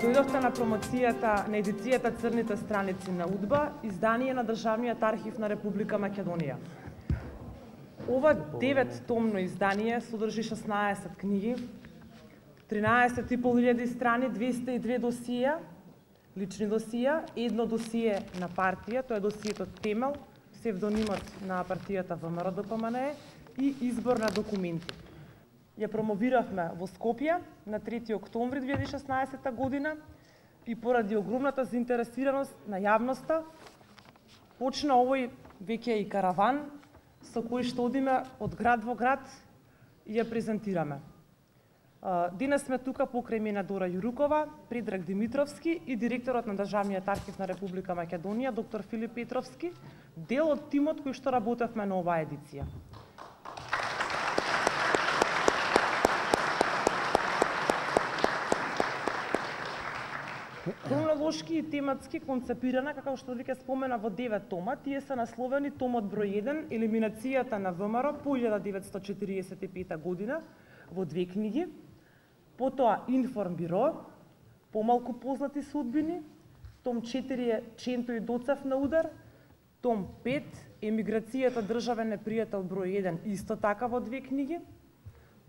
Дојдовте на промоцијата на едицијата Црните страници на УДБА, издание на Државниот архив на Република Македонија. Ова 9-томно издание содржи 16 книги, 13.500 страни, 202 досија, лични досија, едно досие на партија, тоа е досието Темел, псевдонимот на партијата ВМРО-ДПМНЕ и избор на документи. Ја промовиравме во Скопје на 3 октомври 2016 година и поради огромната заинтересираност на јавноста почна овој веќе и караван со кој што одиме од град во град и ја презентираме. Денес сме тука покрај мене Дора Јурукова, Предраг Димитровски и директорот на Државниот архив на Република Македонија, доктор Филип Петровски, дел од тимот кој што работевме на оваа едиција. Хронолошки и тематски концепирана, како што веќе спомена, во 9 тома. Тие се насловени томот број 1, елиминацијата на ВМРО по 1945 година, во 2 книги. Потоа Информбиро, помалку познати судбини. Том 4 е Ченто и Доцев на удар. Том 5, Емиграцијата државен непријател број 1, исто така во 2 книги.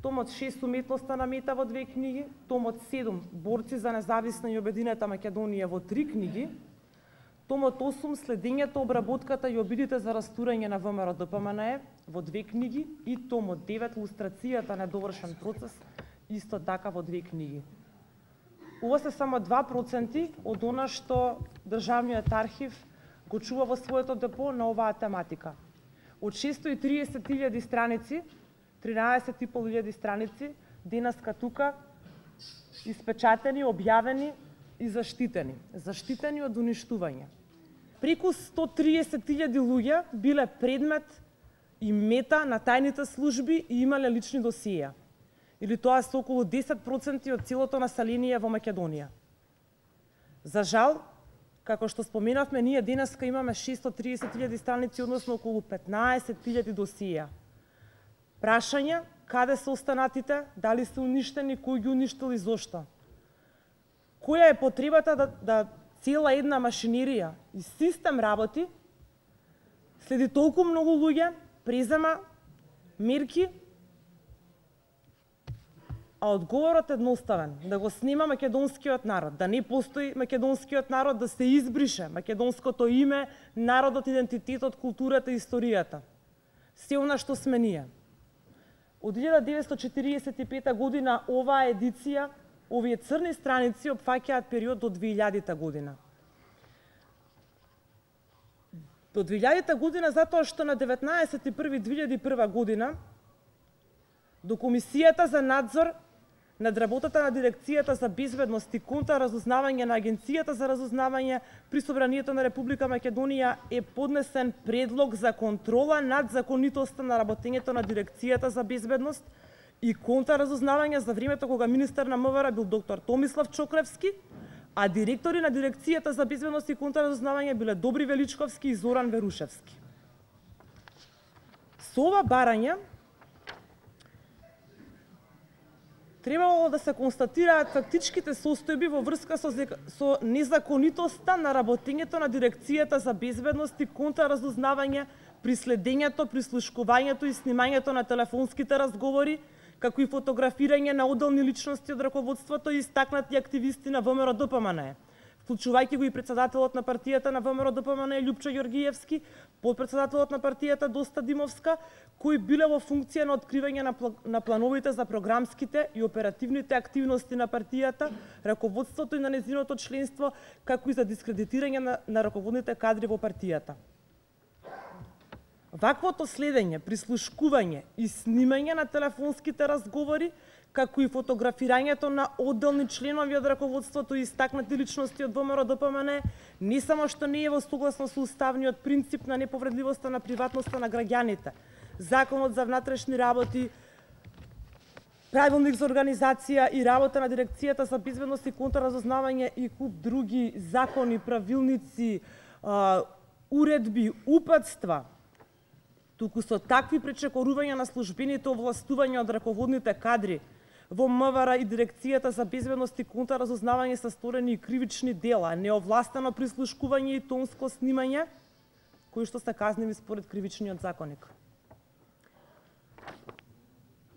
Томот 6, Уметноста на мета во 2 книги. Томот 7, Борци за независна и обединета Македонија во 3 книги. Томот 8, Следењето, обработката и обидите за растурање на ВМРО-ДПМНЕ во 2 книги и томот 9, Лустрацијата на недовршен процес, исто така во 2 книги. Ова се само 2% од она што Државниот архив го чува во своето депо на оваа тематика. Од 630.000 страници, 13.500 страници, денеска тука, испечатени, објавени и заштитени. Заштитени од уништување. Преку 130.000 луѓе биле предмет и мета на тајните служби и имале лични досија. Или тоа се околу 10% од целото население во Македонија. За жал, како што споменавме, ние денеска имаме 630.000 страници, односно околу 15.000 досија. Прашања, каде се останатите, дали се уништени, кој ги уништил и зошто? Која е потребата да цела една машинерија и систем работи, следи толку многу луѓе, презема мерки, а одговорот е едноставен, да го снима македонскиот народ, да не постои македонскиот народ, да се избрише македонското име, народот, идентитетот, културата и историјата. Се она што сме ние. Од 1945 година оваа едиција, овие црни страници опфаќаат период до 2000 година. До 2000 година затоа што на 19.1.2001 година до Комисијата за надзор над работата на Дирекцијата за безбедност и контраразузнавање на Агенцијата за разузнавање при Собранието на Република Македонија е поднесен предлог за контрола над законитоста на работењето на Дирекцијата за безбедност и контраразузнавање за времето кога министер на МВР бил доктор Томислав Чокревски, а директори на Дирекцијата за безбедност и контраразузнавање биле Добри Величковски и Зоран Верушевски. Со ова барање требало да се констатираат фактичките состојби во врска со незаконитоста на работењето на Дирекцијата за безбедност и контраразузнавање при следењето, прислушкувањето и снимањето на телефонските разговори, како и фотографирање на одделни личности од раководството и истакнати активисти на ВМРО-ДПМНЕ, вклучувајќи го и председателот на партијата на ВМРО-ДПМНЕ Љупчо Ѓоргиевски, подпредседателот на партијата Доста Димовска, кои биле во функција на откривање на плановите за програмските и оперативните активности на партијата, раководството и на нејзиното членство, како и за дискредитирање на раководните кадри во партијата. Ваквото следење, прислушкување и снимање на телефонските разговори, како и фотографирањето на одделни членови од раководството и истакнати личности од ВМРО-ДПМНЕ, не само што не е во согласно со уставниот принцип на неповредливоста на приватноста на граѓаните, Законот за внатрешни работи правилник за организација и работа на Дирекцијата за безбедност и контраразузнавање и куп други закони, правилници, уредби, упатства, туку со такви пречекорувања на службените овластувања од раководните кадри во МВР и Дирекцијата за безбедност и контраразузнавање се сторени и кривични дела, неовластено прислушкување и тонско снимање, кои што се казниви според кривичниот законник.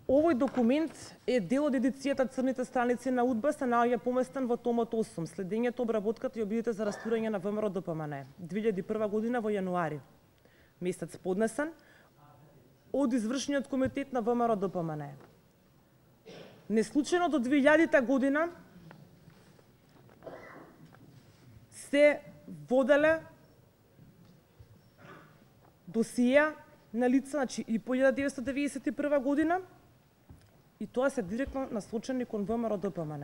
Овој документ е дел од едицијата Црните страници на УДБА, се наоѓа поместен во томот 8, следењето, обработката и обидите за растурање на ВМРО ДПМН, 2001 година во јануари месец поднесен од извршниот комитет на ВМРО ДПМН. Неслучајно до 2000 година се воделе досија на лица, значи и по 1991 година, и тоа се директно насочени кон ВМРО ДПМН.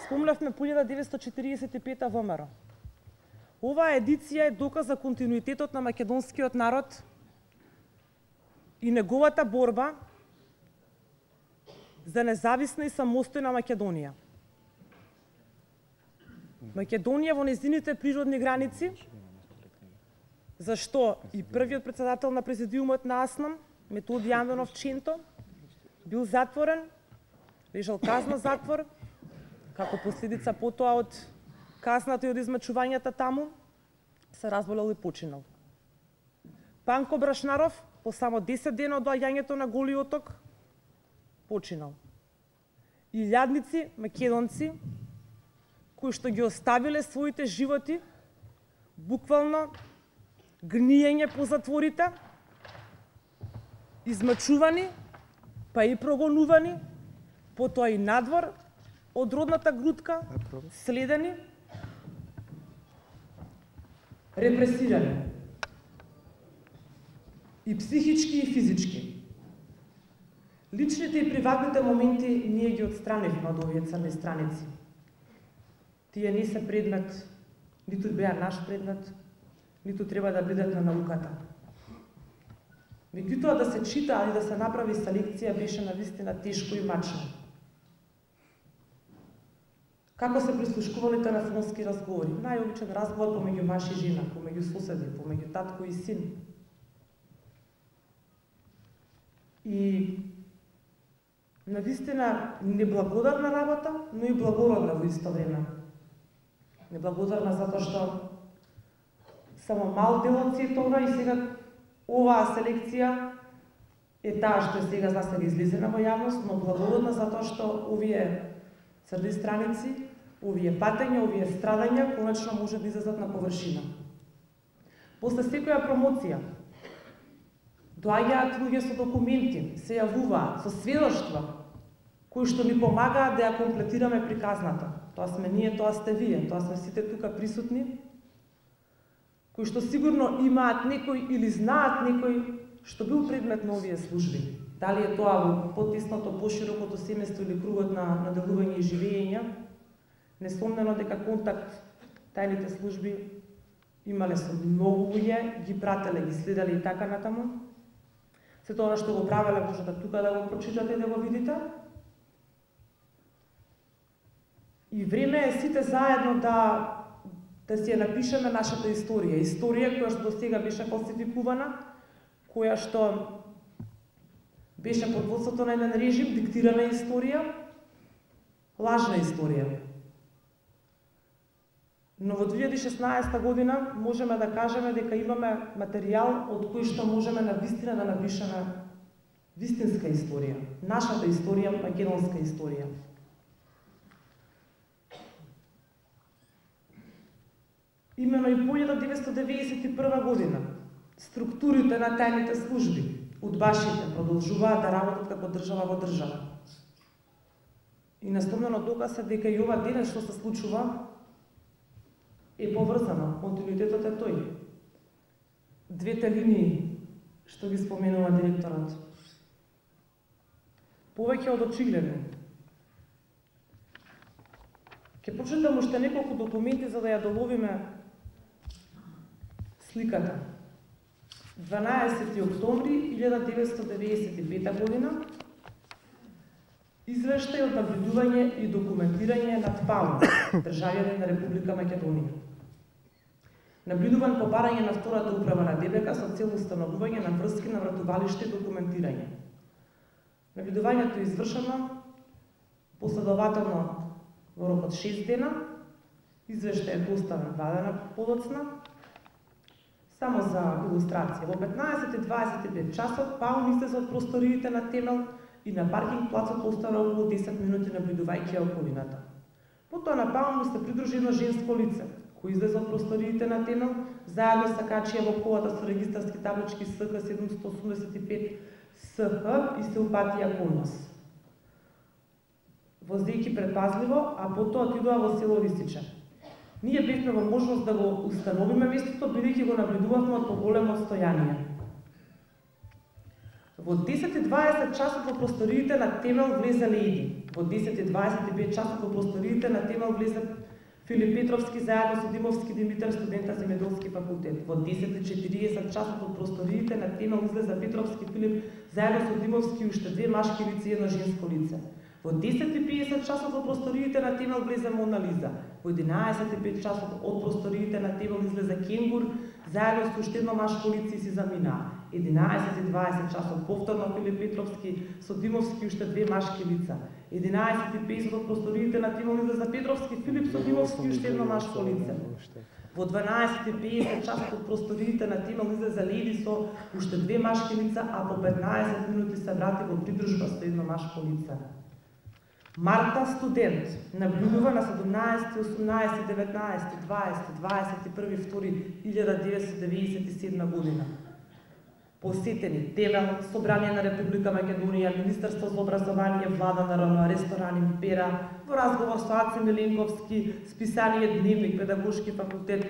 Спомнавме по 1945 ВМРО. Оваа едиција е доказ за континуитетот на македонскиот народ и неговата борба за независна и самостојна Македонија. Македонија во нејзините природни граници, зашто и првиот председател на президиумот на АСНАМ, Методи Јанданов Ченто, бил затворен, лежал казна затвор, како последица потоа од казната и од измачувањата таму, се разболел и починал. Панко Брашнаров, по само 10 дена од доаѓањето на Голи Оток, починал. Илјадници македонци, кои што ги оставиле своите животи, буквално гниење по затворите, измачувани, па и прогонувани, потоа и надвор од родната грудка, следени, репресирани. И психички и физички. Личните и приватните моменти ние ги отстранивме од овие црни страници. Тие не се предмет, ниту беа наш предмет, ниту треба да бидат на науката. Меѓутоа да се чита, али да се направи селекција беше навистина тешко и мачно. Како се прислушкували телефонски разговори? Најобичен разговор помеѓу маж и жена, помеѓу соседи, помеѓу татко и син. И навистина неблагодарна работа, но и благородна во исто време. Неблагодарна затоа што само мал дел од сето ова и сега оваа селекција е таа што е сега за сега излезена во јавност, но благородна затоа што овие црни страници, овие патења, овие страдања конечно може да излезат на површина. После секоја промоција доаѓаат луѓе со документи, се јавуваат со сведоштва кои што ни помагаат да ја комплетираме приказната. Тоа сме ние, тоа сте вие, тоа сме сите тука присутни, кои што сигурно имаат некој или знаат некој што бил предмет на овие служби. Дали е тоа во потесното, поширокото семејство или кругот на делување и живење, несомнено дека контакт тајните служби имале со многу луѓе, ги прателе, ги следеле и така натаму. Сето она што го правеле можете тука да го прочитате и да го видите. И време е сите заедно да си ја напишеме нашата историја. Историја која што до сега беше фалсификувана, која што беше под водството на еден режим, диктирана историја, лажна историја. Но во 2016 година можеме да кажеме дека имаме материјал од кој што можеме навистина да напишеме вистинска историја, нашата историја, македонска историја. Имено и по 1991 година структурите на тајните служби, удбашите, продолжуваат да работат како држава во држава. И насловно доказ е дека и ова денес што се случува е поврзано, континуитетот е тој. Двете линии што ги споменува директорот. Повеќе од очигледно. Ќе прочитам уште неколку документи за да ја доловиме сликата. 12 октомври 1995 година Извештај од наблюдување и документирање над Пауна, државјанин на Република Македонија. Наблюдуван по барање на втората управа на ДБК со цел установување на врски на вратувалиште и документирање. Наблюдувањето е извршено последователно во рок од 6 дена, извештај е доставен 2 дена подоцна. Само за илустрација, во 15:25 часот Паун излезе од просториите на Темел и на паркинг плацот остана околу 10 минути наблюдувајќи околината. Потоа на Паун му се придружи едно женско лице, кој излезе од просториите на Темел, заедно са качија во колата со регистарски таблички СК 785 СХ и се упатија кон нас. Возејќи предпазливо, а потоа отидоа во село Рисиче. Ние бевме во можност да го установиме местото, бидејќи го наблюдувавме од поголемо отстојание. Во 10:20 часот во просториите на Темел влезе Лејди. Во 10:25 часот во просториите на Темел влезе Филип Петровски заедно со Димовски Димитар, студента земјоделски факултет. Во 10:40 часот во просториите на Темел излезе Петровски Филип заедно со Димовски уште 2 машки лица и едно женско лице. Во 10:50 часот во просториите на Темел влезе Мона Лиза. Во 11:05 часот од просториите на Темел излезе Кенгур заедно со уште едно машко лице и си заминаа. 11:20 часот повторно Филип Петровски со Димовски уште 2 машки лица. 11:50 од просториите на Темел излезе Петровски Филип со Димовски уште едно машко лице. Во 12:50 часот од просториите на Темел излезе Лејди со уште 2 машки лица, а по 15 минути се врати во придружба со едно машко лице. Марта студент наблюдува на 17, 18, 19, 20, 21, 1997 година. Посетени Темел, Собрание на Република Македонија, Министерство за образование, Влада на РН, ресторан Импера, во разговор со Аце Миленковски, списание Дневник, Педагошки факултет,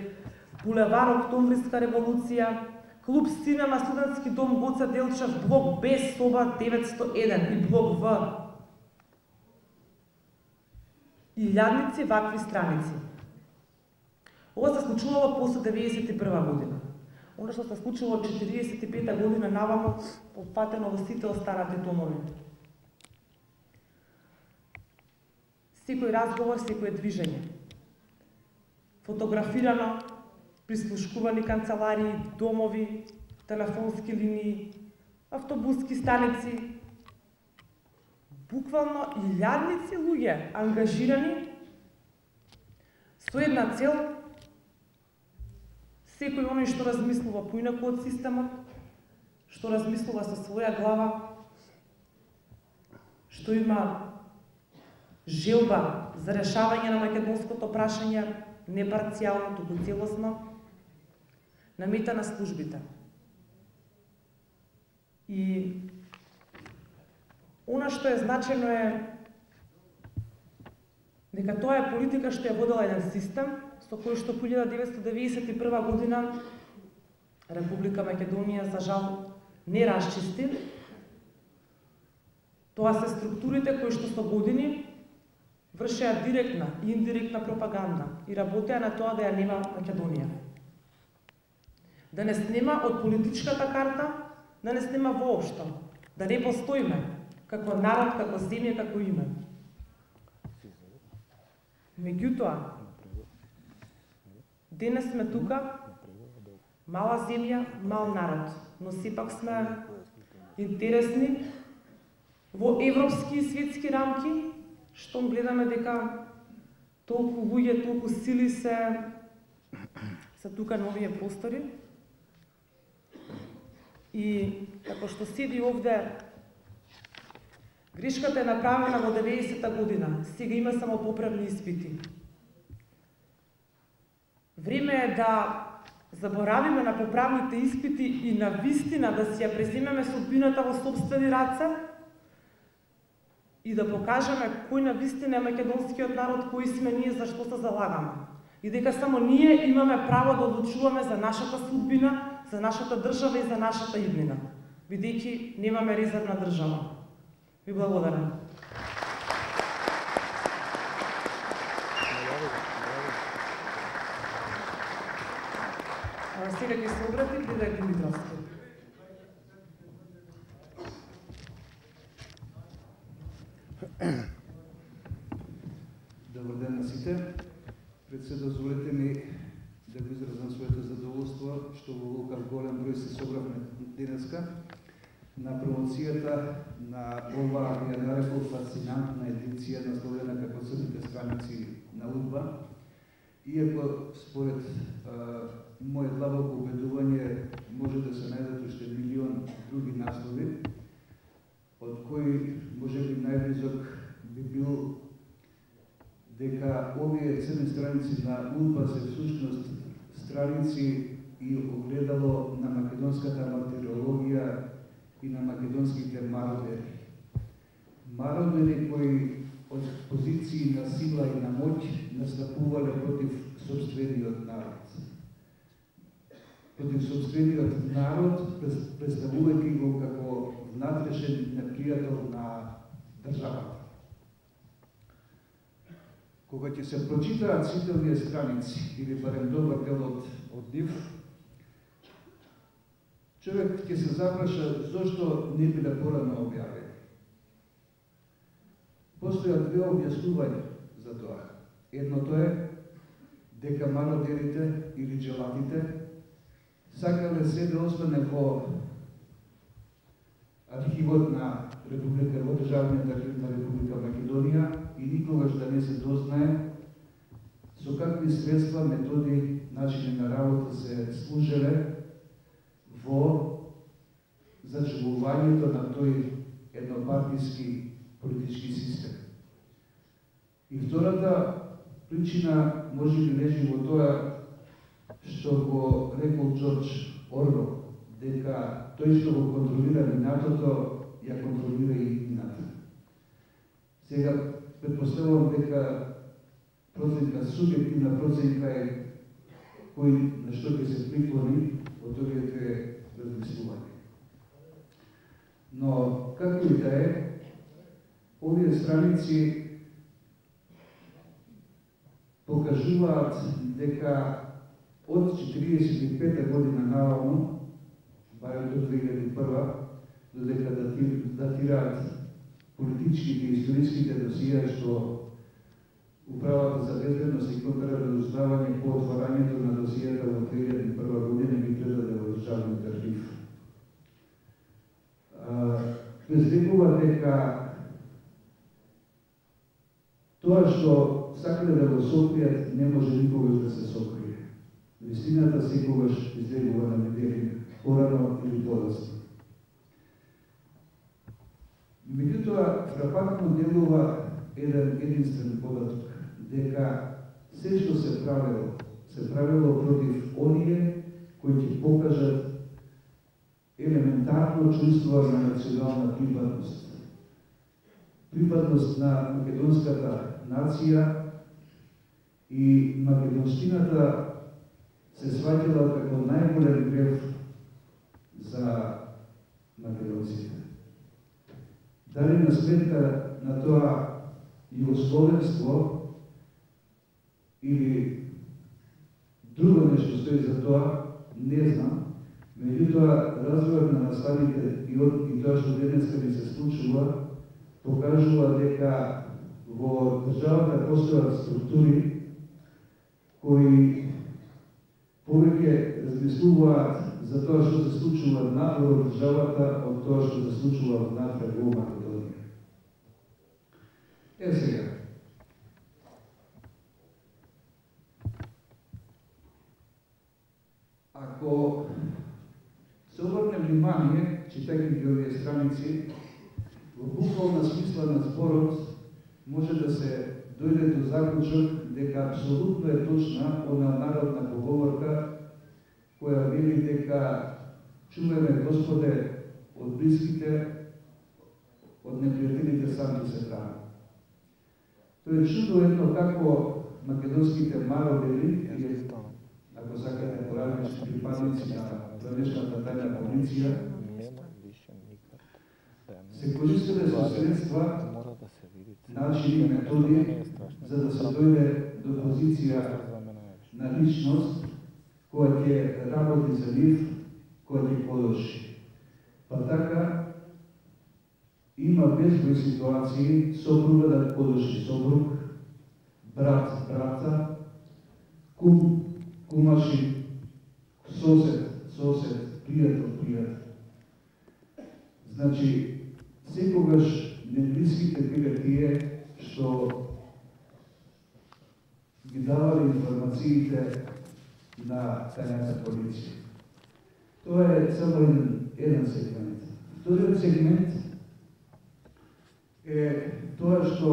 булевар Октомвриска револуција, клуб Синема, студентски дом Гоце Делчев, блок Б, соба 901 и блок В. Илјадници вакви страници. Ова се случувало после 91 година. Оно што се случило од 45 година наваму, опфатено во сите останати томови. Секој разговор, секој движење. Фотографирано, прислушкувани канцеларии, домови, телефонски линии, автобуски станици, буквално илјадници луѓе ангажирани со една цел, секој оној што размислува поинаку од системот, што размислува со своја глава, што има желба за решавање на македонското прашање, не парцијално, туку целосно, намета на службите. И она што е значено е дека тоа е политика што ја водела еден систем, со кој што по 1991 година Република Македонија за жал не расчисти. Тоа се структурите кои што со години вршеа директна и индиректна пропаганда и работеа на тоа да ја нема Македонија. Да не снема од политичката карта, да не снема воопшто, да не постоиме како народ, како земја, како име. Меѓутоа, денес сме тука, мала земја, мал народ, но сепак сме интересни во европски и светски рамки, што гледаме дека толку луѓе, толку сили се тука на овие простори. И како што седи овде, грешката е направена во 90-та година, сега има само поправни испити. Време е да заборавиме на поправните испити и на вистина да си ја преземеме судбината во сопствени раце и да покажеме кој на вистина е македонскиот народ, кои сме ние, за што се залагаме. И дека само ние имаме право да одлучуваме за нашата судбина, за нашата држава и за нашата иднина, бидејќи немаме резервна држава. Ви благодарам. Сега ќе се обрати Предраг Димитровски. што во ваков голем број се собравме денеска на промоцијата на ова, ја нарекол, фасцинантна едиција насловена како Црните страници на УДБА. Иако според мојот длабоко убедување може да се најдат уште милион други наслови, од кои можеби најблизок би бил дека овие црни страници на УДБА се всушност страници и огледало на македонската мартирологија и на македонските мародери. Мародери кои од позиции на сила и на моќ настапувале против собствениот народ. Против собствениот народ, представувајќи го како внатрешен непријател на државата. Кога ќе се прочитаат сите овие страници, или барем добар дел од нив, човек ќе се запраша зошто не биле порано објавени. Постојат две објаснувања за тоа. Едното е дека мародерите или джелатите сакале се да остане во архивот на Република, во Државниот архив на Република Македонија и никогаш да не се дознае со какви средства, методи, начини на работа се служеле во зачувувањето на тој еднопартиски политички систем. И втората причина може би лежи во тоа што го рекол Джордж Орвел, дека тој што го контролира минатото, ја контролира и иднината. Сега, предпоставувам дека проценка, субјективна проценка е кој на што ќе се приклони од овие две размислувања. Но, како и да е, овие страници покажуваат дека од 45 година наваму, барем до 2001, додека датираат политичките и историските досија што Управата за безбедност и контраразузнавање по отварањето на досијата во 2001 година ги предаде во Државниот архив. Безрекува дека тоа што сакале да го сокријат не може никогаш да се сокрие. Вистината секогаш излегува на видели, порано или подоцна. Меѓутоа, фрапантно делува еден единствен податок, дека се што се правило против оние кои ќе покажат елементарно чувство на национална припадност. Припадност на македонската нација и македонштината се сваќала како најголем грев за македонците. Дали на сметка на тоа југословенство или друго нешто стои за тоа, не знам. Меѓутоа, развојот на наставите и тоа што денеска ни се случува, покажува дека во државата постојат структури кои повеќе размислуваат за тоа што се случува надвор од државата од тоа што се случува внатре во Македонија. Сега. Ако се обрне внимание, читајќи ги овие страници, во буквална смисла на зборот може да се дојде до заклучок дека апсолутно е точна она народна поговорка која вели дека чуваме Господе од блиските, од непријателите сам се храни. Тоа е чудо едно како македонските мародери, ако сакате поразлични припадници на граничната тајна полиција, се користеле со средства, начини, методи, за да се дојде до позиција на личност која ќе работи за нив, која ќе подоши. Па така, има безброј ситуации, сопруга да подоши сопруг, брат брата, кум кумаши, сосед сосед, пријател. Значи, секогаш неблиските биле тие што ги давали информациите на тајната полиција. Тоа е само еден сегмент. Вториот сегмент е тоа што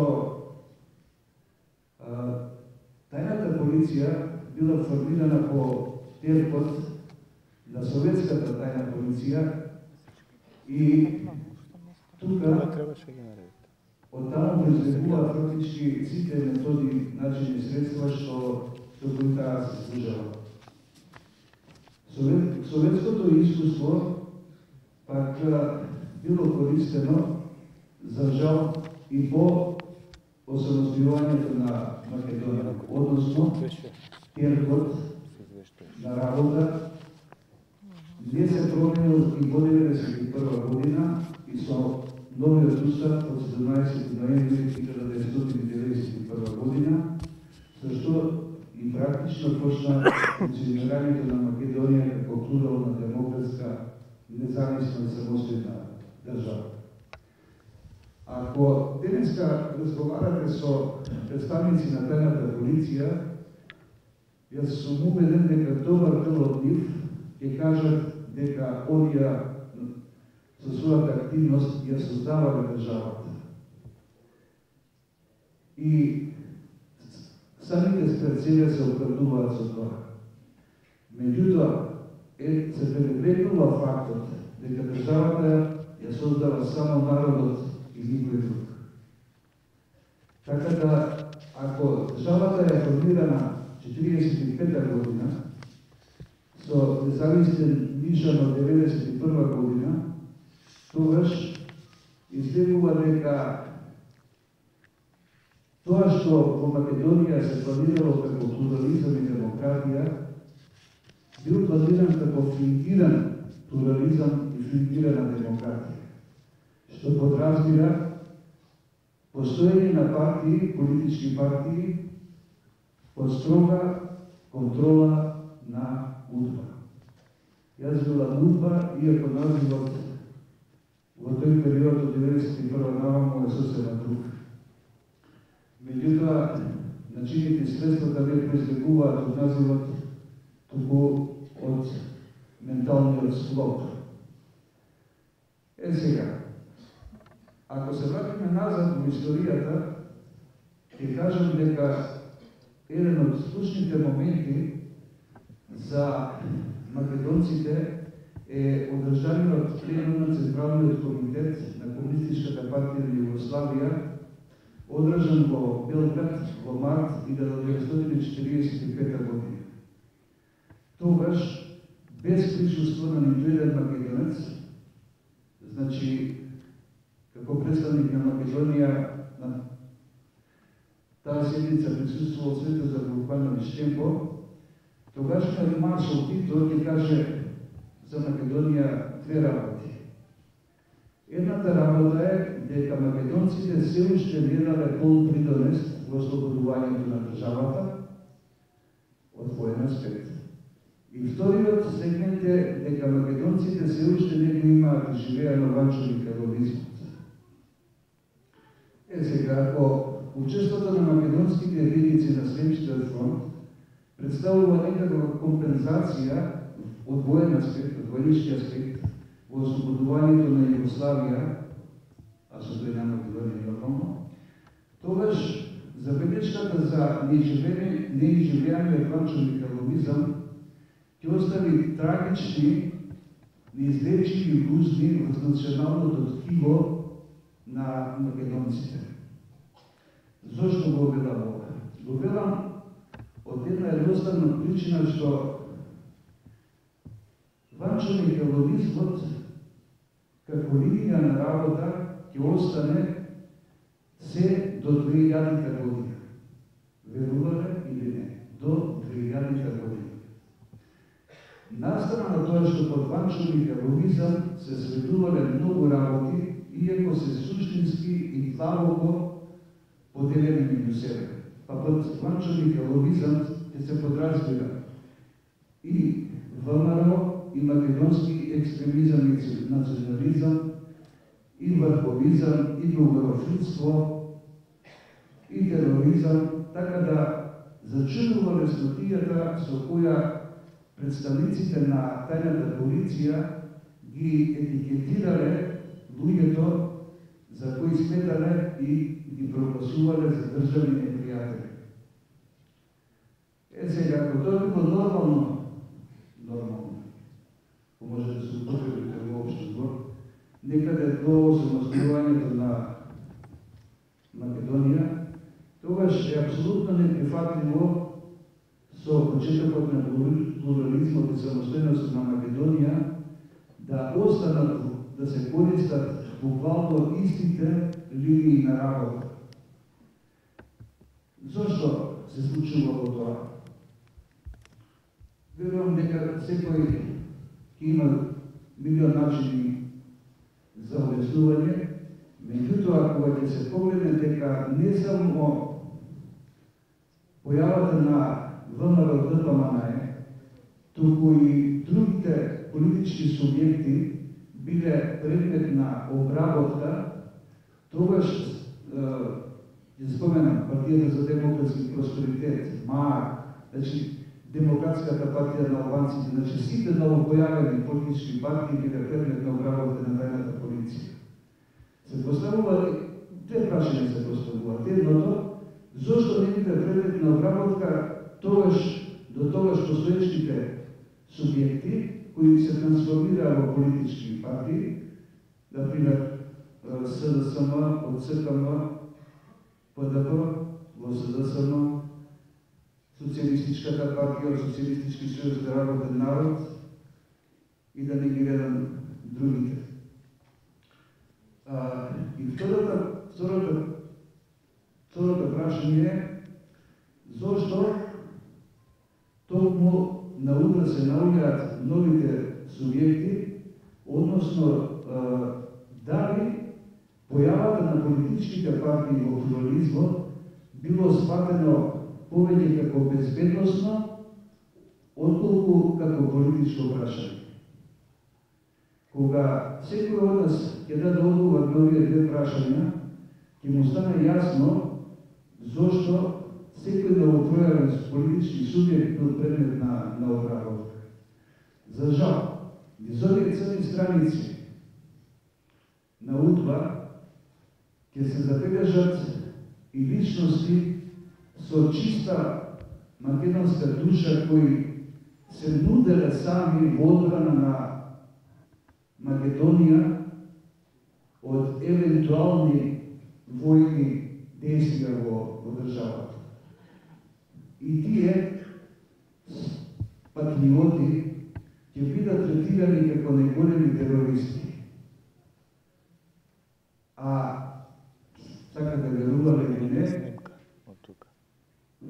тајната полиција била формирана по терпот на советската тајна полиција и тука од таму произлегуваат практички сите методи, начини и средства што кои таа се служела. Советското искуство пак било користено за жал и по осамостојувањето на Македонија, односно терпот на работа не се променил и во 1991 година и со новиот устав од 17 ноември 1991 година, со што и практично почна функционирањето на Македонија како плурална демократска независна и самостојна држава. Ако денеска разговарате со представници на тајната полиција, јас сум убеден дека добар дел од нив ќе кажат дека оние со својата активност ја создавале државата. И самите спред себе се оправдуваат со тоа. Меѓутоа, се пренебрегнува фактот дека државата ја создава само народот и никој друг. Така да, ако државата е формирана 45 година, со независен нишан од 91 година, тогаш изгледува дека тоа што во Македонија се планирало како плурализам и демократија, бил планиран како фингиран плурализам и фингирана демократија, што подразбира постоење на партии, политички партии, под строга контрола на УДБА. Јас велам УДБА, иако називот во тој период од 1991 наваму е сосема друг. Меѓутоа, начините и средствата не произлегуваат од називот, туку од менталниот склоп. Сега, ако се вратиме назад во историјата, ќе кажам дека еден од клучните моменти за македонците е одржаниот пленум на Централниот комитет на Комунистичката партија на Југославија, одржан во Белград во март 1945 година. Тогаш, без присуство на ниту еден македонец, значи, како представник на Македонија, на таа седница присуствувал Светозар Вукановиќ Темпо, тогашниот маршал Тито ќе каже за Македонија две работи. Едната работа е дека македонците се уште не дале пол придонес во ослободувањето на државата од воен аспект. И вториот сегмент е дека македонците се уште не го имаат живеено ванчоникаловизмот. Сега, ако учеството на македонските единици на Сремскиот фронт представува некаква компензација од воен аспект, од военички аспект, во ослободувањето на Југославија, а со тој на Македонија нормално, тогаш забелешката за неизживеаниот ванчоникаловизам ќе остави трагични, неизлечиви гузни во националното ткиво на македонците. Зошто го велам ова? Го велам од една едноставна причина што ванчоникаловизмот како линија на работа ќе остане се до 2000 година. Верувате или не? До 2000 година. Настана на тоа што под ванчоникаловизам се сведувале многу работи, иако се суштински и длабоко поделени меѓу себе. Па под ванчоникаловизам ќе се подразбира и ВМРО, и македонски екстремизам и национализам, и врховизам, и бугарофилство, и тероризам, така да зачудува леснотијата со која представниците на тајната полиција ги етикетирале луѓето за кои сметале и ги прогласувале за државни непријатели. Сега, ако тоа било нормално, може да се употреби како општо збор, некаде до самостојувањето на Македонија, тогаш е апсолутно неприфатливо со почетокот на плурализмот и самостојност на Македонија да останат да се користат буквално истите линии на работа. Зошто се случува тоа? Верувам дека секој ќе има милион начини за објаснување, меѓутоа кога ќе се погледне дека не само појавата на ВМРО ДПМН, туку и другите политички субјекти биле предмет на обработка, тогаш ќе споменам Партијата за демократски просперитет, МААК, значи Демократската партија на албанците, значи сите новопојавени политички партии биле предмет на обработка на тајната полиција. Се поставува две прашања се поставуваат. Едното, зошто не биле предмет на обработка до тогаш постоечките субјекти кои се трансформираа во политички партии, например СДСМ, ОЦКМ, ПДП, во СДСМ, Социјалистичката партија, Социјалистички сојуз за работен народ и да не ги редам другите. И второто прашање е зошто токму на удра се наоѓаат новите субјекти, односно дали појавата на политичките партии во плурализмот било сватено повеќе како безбедносно, отколку како политичко прашање. Кога секој од нас ќе даде одговор на овие две прашања, ќе му стане јасно зошто секој новопројавен политички субјект бил предмет на обработка. За жал, низ овие црни страници на УДБА ќе се забележат и личности со чиста македонска душа кои се нуделе сами во одбрана на Македонија од евентуални војни действија во државата. И тие патриоти ќе бидат третирани како најголеми терористи. Така да верувале или не,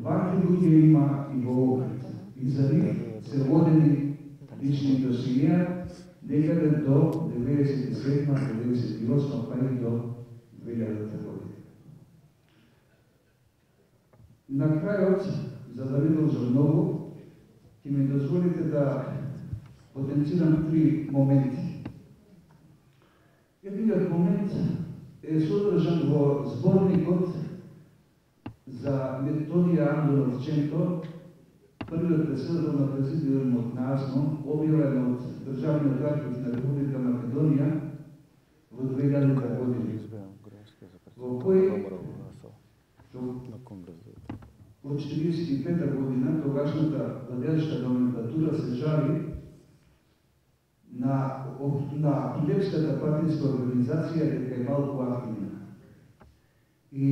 вакви луѓе има и во Охрид. И за нив се водени лични досиеа некаде до 97, 98, па и до 2000 година. На крајот, за да не должам многу, ќе ми дозволите да потенцирам три моменти. Едниот момент е содржан во зборникот за Методија Андонов-Ченто, првиот председател на президиумот на АСНО, објавен од Државниот архив на Република Македонија во 2000 година, во кој од 1945 година тогашната владеачка номенклатура се жали на Апилевската партијска организација дека е малку активна. И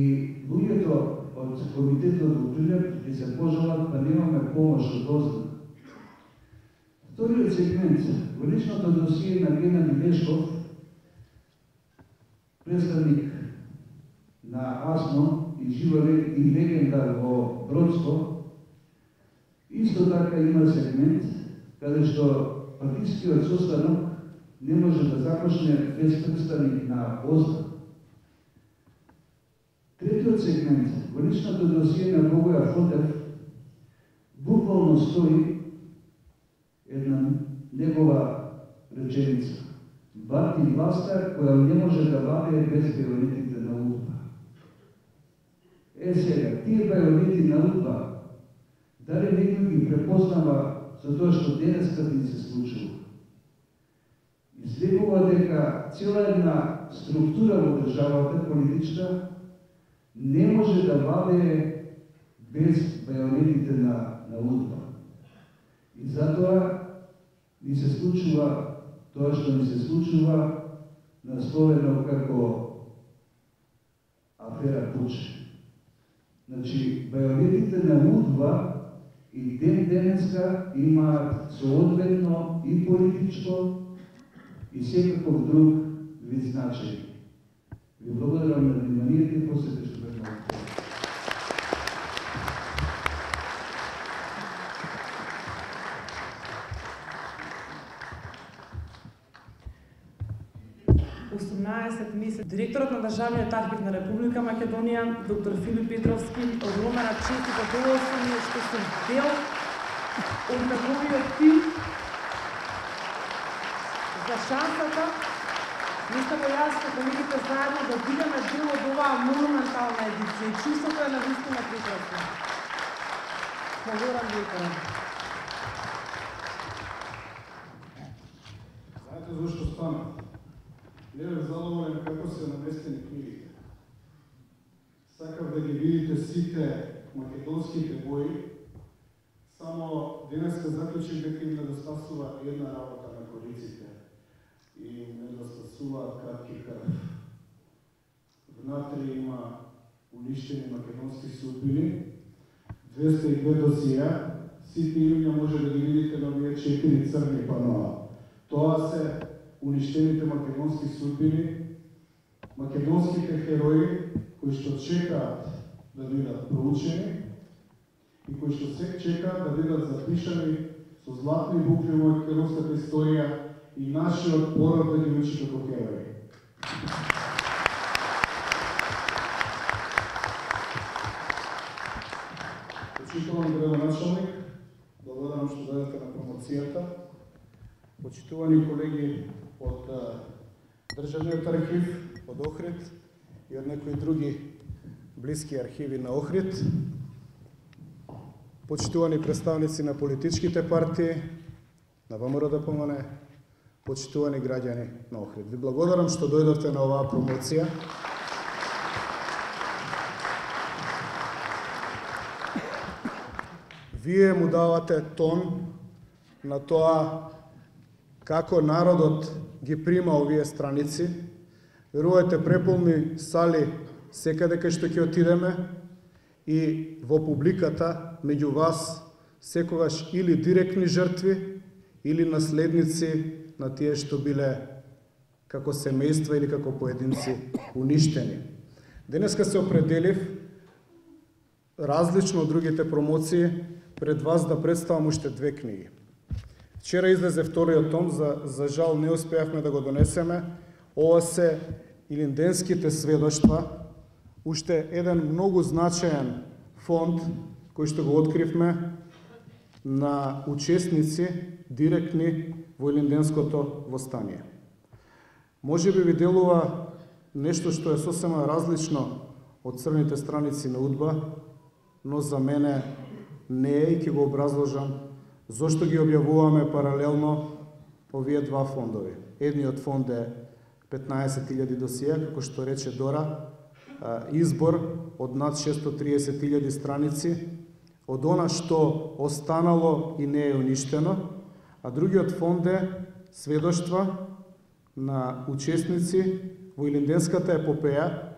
луѓето од комитетот во Прилеп ќе се пожалат, па немаме помош од озда. Вториот сегмент, во личното досие на Геннади Лешков, представник на АСНО и жива и легенда во Бродско, исто така има сегмент каде што партискиот состанок не може да започне без представник на ОЗДА. Третиот сегмент, во личното досие на Богоја Фотев, буквално стои една негова реченица. Бати власта која не може да владее без бајонетите на УДБА. Сега, тие бајонети на УДБА, дали некој ги препознава за тоа што денеска ни се случува? Излегува дека цела една структура во државата, политичка, не може да владее без бајонетите на УДБА. И затоа ни се случува тоа што ни се случува, насловено како афера Пуче. Значи, бајонетите на УДБА и денеска имаат соодветно и политичко и секаков друг вид значај. Ви благодарам на вниманието и посете што предлагам. 18 месеци. Директорот на Државниот архив на Република Македонија, доктор Филип Петровски, огромна чест и задоволство ми е што сум дел од неговиот тим за шансата, не само јас, но колегите заедно да бидеме дел од оваа монументална едиција. Чувството е навистина прекрасно. Благодарам директорот. Знаете зашто стана? Не бе задоволен како се наместени книгите. Сакав да ги видите сите македонските бои, само денеска заклучив дека им недостасува една работа на кориците и им недостасува кратки крв. Внатре има уништени македонски судбини, 202 досија, сите имиња може да ги видите на овие 4 црни паноа. Тоа се уништените македонски судбини, македонските херои кои што чекаат да бидат проучени и кои што се чекаат да бидат запишани со златни букви во македонската историја и нашиот пород да ги учи како херои. Почитуван градоначалник, благодарам што дојдете на промоцијата. Почитувани колеги од Државниот архив, од Охрид и од некои други блиски архиви на Охрид. Почитувани представници на политичките партии, на ВМРО ДПМН, почитувани граѓани на Охрид. Ви благодарам што дојдовте на оваа промоција. Вие му давате тон на тоа како народот ги прима овие страници. Верувајте, преполни сали секаде кај што ќе отидеме и во публиката меѓу вас секогаш или директни жртви или наследници на тие што биле како семејства или како поединци уништени. Денеска се определив, различно од другите промоции, пред вас да представам уште 2 книги. Вчера излезе вториот том, за жал не успеавме да го донесеме. Ова се илинденските сведоштва, уште еден многу значаен фонд кој што го откривме на учесници директни во илинденското востание. Може би ви делува нешто што е сосема различно од црните страници на УДБА, но за мене не е и ќе го образложам зошто ги објавуваме паралелно овие два фондови. Едниот фонд е 15.000 досија, како што рече Дора, избор од над 630.000 страници, од она што останало и не е уништено, а другиот фонд е сведоштва на учесници во илинденската епопеја,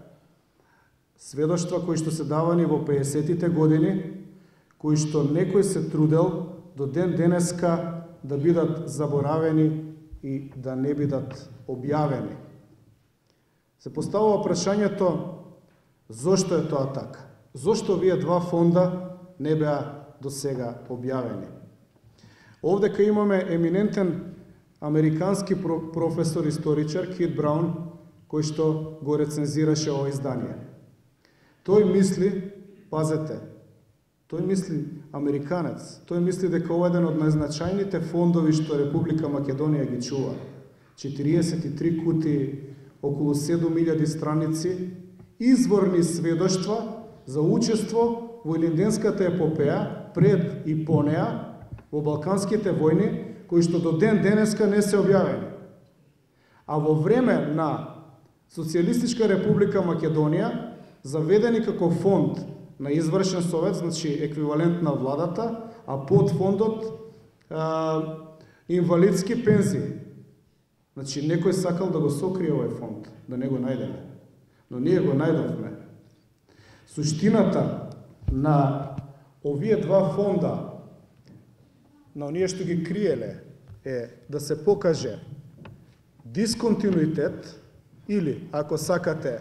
сведоштва кои што се давани во 50-тите години, кои што некој се трудел до ден денеска да бидат заборавени и да не бидат објавени. Се поставува прашањето зошто е тоа така? Зошто овие два фонда не беа до сега објавени? Овдека имаме еминентен американски професор историчар Кит Браун, кој што го рецензираше ова издание. Тој мисли, пазете, тој мисли американец, тој мисли дека ова е еден од најзначајните фондови што Република Македонија ги чува. 43 кути, околу 7000 страници, изворни сведоштва за учество во Илинденската епопеја пред и по неа во Балканските војни, кои што до ден денеска не се објавени. А во време на Социјалистичка република Македонија, заведени како фонд на извршен совет, значи еквивалент на владата, а под фондот инвалидски пензии. Значи некој сакал да го сокрие овој фонд, да не го најдеме. Но ние го најдовме. Суштината на овие два фонда, на оние што ги криеле, е да се покаже дисконтинуитет или, ако сакате,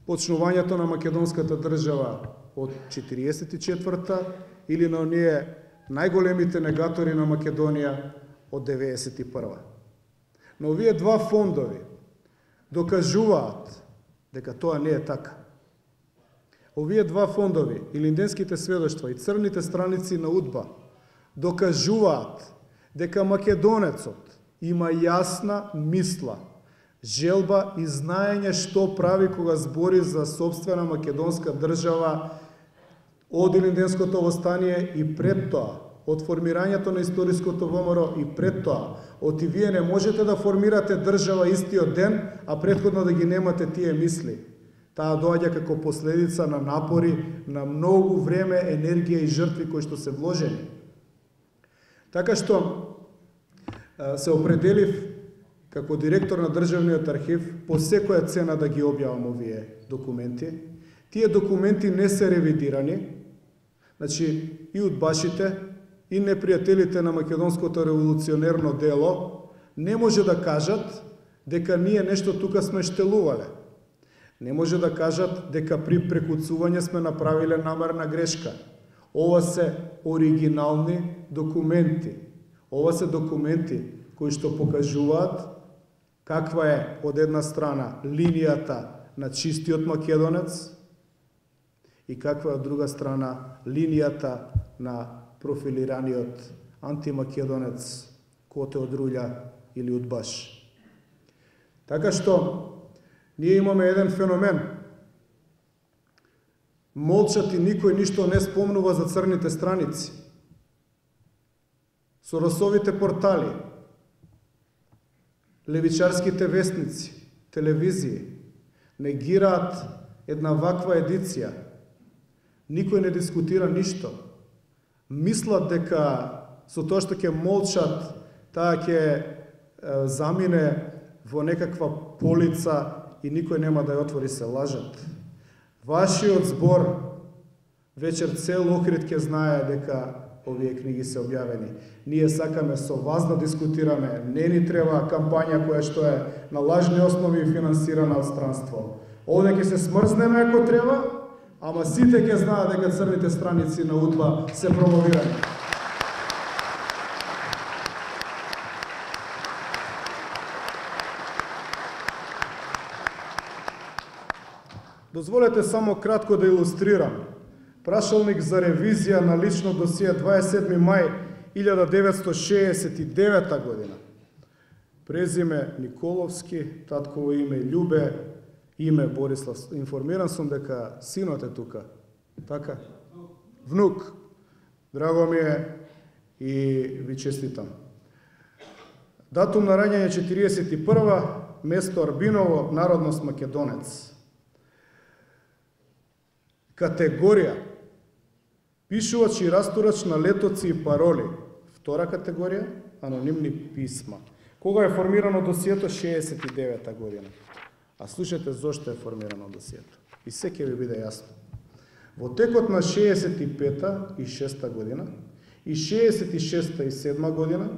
почнувањето на македонската држава од 44-та или на оние најголемите негатори на Македонија од 91-та. Но овие два фондови докажуваат дека тоа не е така. Овие два фондови, Илинденските сведоштва и црните страници на УДБА, докажуваат дека македонецот има јасна мисла, желба и знаење што прави кога збори за сопствена македонска држава од Илинденското востание и пред тоа, од формирањето на историското ВМРО и пред тоа, од и вие не можете да формирате држава истиот ден, а претходно да ги немате тие мисли. Таа доаѓа како последица на напори, на многу време, енергија и жртви кои што се вложени. Така што се определив како директор на Државниот архив по секоја цена да ги објавам овие документи. Тие документи не се ревидирани, значи и удбашите, и непријателите на македонското револуционерно дело не може да кажат дека ние нешто тука сме штелувале. Не може да кажат дека при прекуцување сме направиле намерна грешка. Ова се оригинални документи. Ова се документи кои што покажуваат каква е од една страна линијата на чистиот македонец и каква е од друга страна линијата на профилираниот антимакедонец Коте од Рулја или удбаш. Така што ние имаме еден феномен. Молчат и никој ништо не спомнува за црните страници. Соросовите портали, левичарските вестници, телевизии негираат една ваква едиција. Никој не дискутира ништо. Мислат дека со тоа што ќе молчат, таа ќе замине во некаква полица и никој нема да ја отвори, се лажат. Вашиот збор вечер цел Охрид ќе знае дека овие книги се објавени. Ние сакаме со вас да дискутираме, не ни треба кампања која што е на лажни основи и финансирана од странство. Овде ќе се смрзнеме ако треба, ама сите ќе знаат дека црните страници на УДБА се промовирани. Дозволете само кратко да илустрирам. Прашалник за ревизија на лично досие 27. мај 1969 година. Презиме Николовски, татково име Љубе, име Борислав. Информиран сум дека синот е тука. Така? Внук. Драго ми е и ви честитам. Датум на раѓање 41. Место Арбиново, народност македонец. Категорија пишувач и растурач на летоци и пароли. Втора категорија анонимни писма. Кога е формирано досието? 69 година. А слушате зошто е формирано досието. И се ќе ви биде јасно. Во текот на 65-та и 6-та година и 66-та и 7-та година,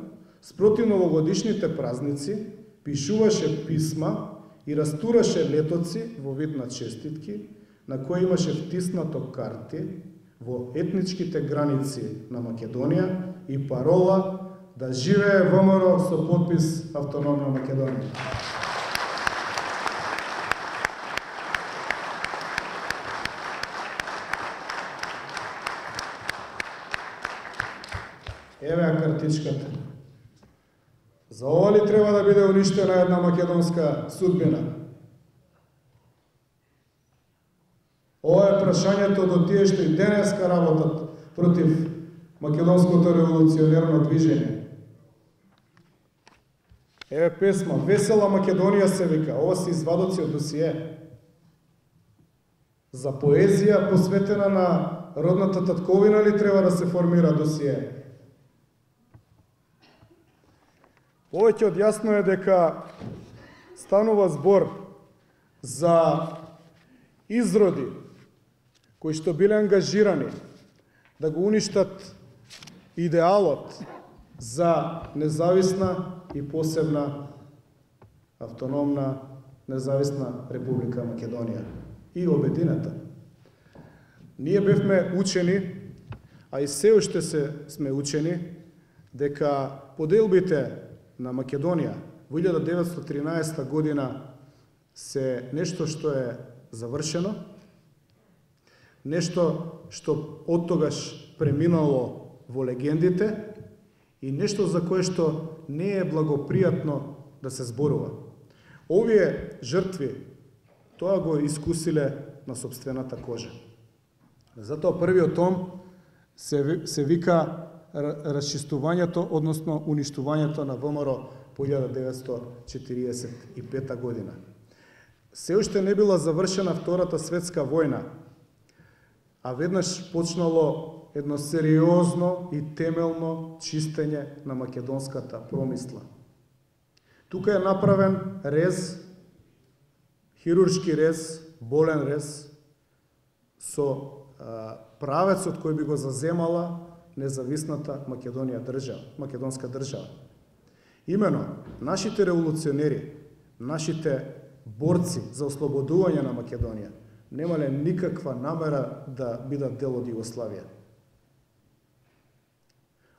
спроти новогодишните празници, пишуваше писма и растураше летоци во вид на честитки, на кои имаше втиснато карти во етничките граници на Македонија и парола да живее ВМРО со подпис Автономна Македонија. Еве ја картичката. За ова ли треба да биде уништена една македонска судбина? Ова е прашањето до тие што и денеска работат против македонското револуционерно движење. Еве песма, Весела Македонија се вика, ова се извадоци од досие. За поезија посветена на родната татковина ли треба да се формира досие? Повеќе од јасно е дека станува збор за изроди кои што биле ангажирани да го уништат идеалот за независна и посебна автономна независна Република Македонија и обединета. Ние бевме учени, а и се уште сме учени, дека поделбите на Македонија во 1913 година се нешто што е завршено, нешто што оттогаш преминало во легендите и нешто за кое што не е благопријатно да се зборува. Овие жртви тоа го искусиле на собствената кожа. Затоа првиот том се вика расчистувањето, односно уништувањето на ВМРО по 1945 година. Се уште не била завршена Втората светска војна, а веднаш почнало едно сериозно и темелно чистење на македонската промисла. Тука е направен рез, хируршки рез, болен рез, со правецот кој би го заземала независната македонска држава. Имено, нашите револуционери, нашите борци за ослободување на Македонија немале никаква намера да бидат дел од Југославија.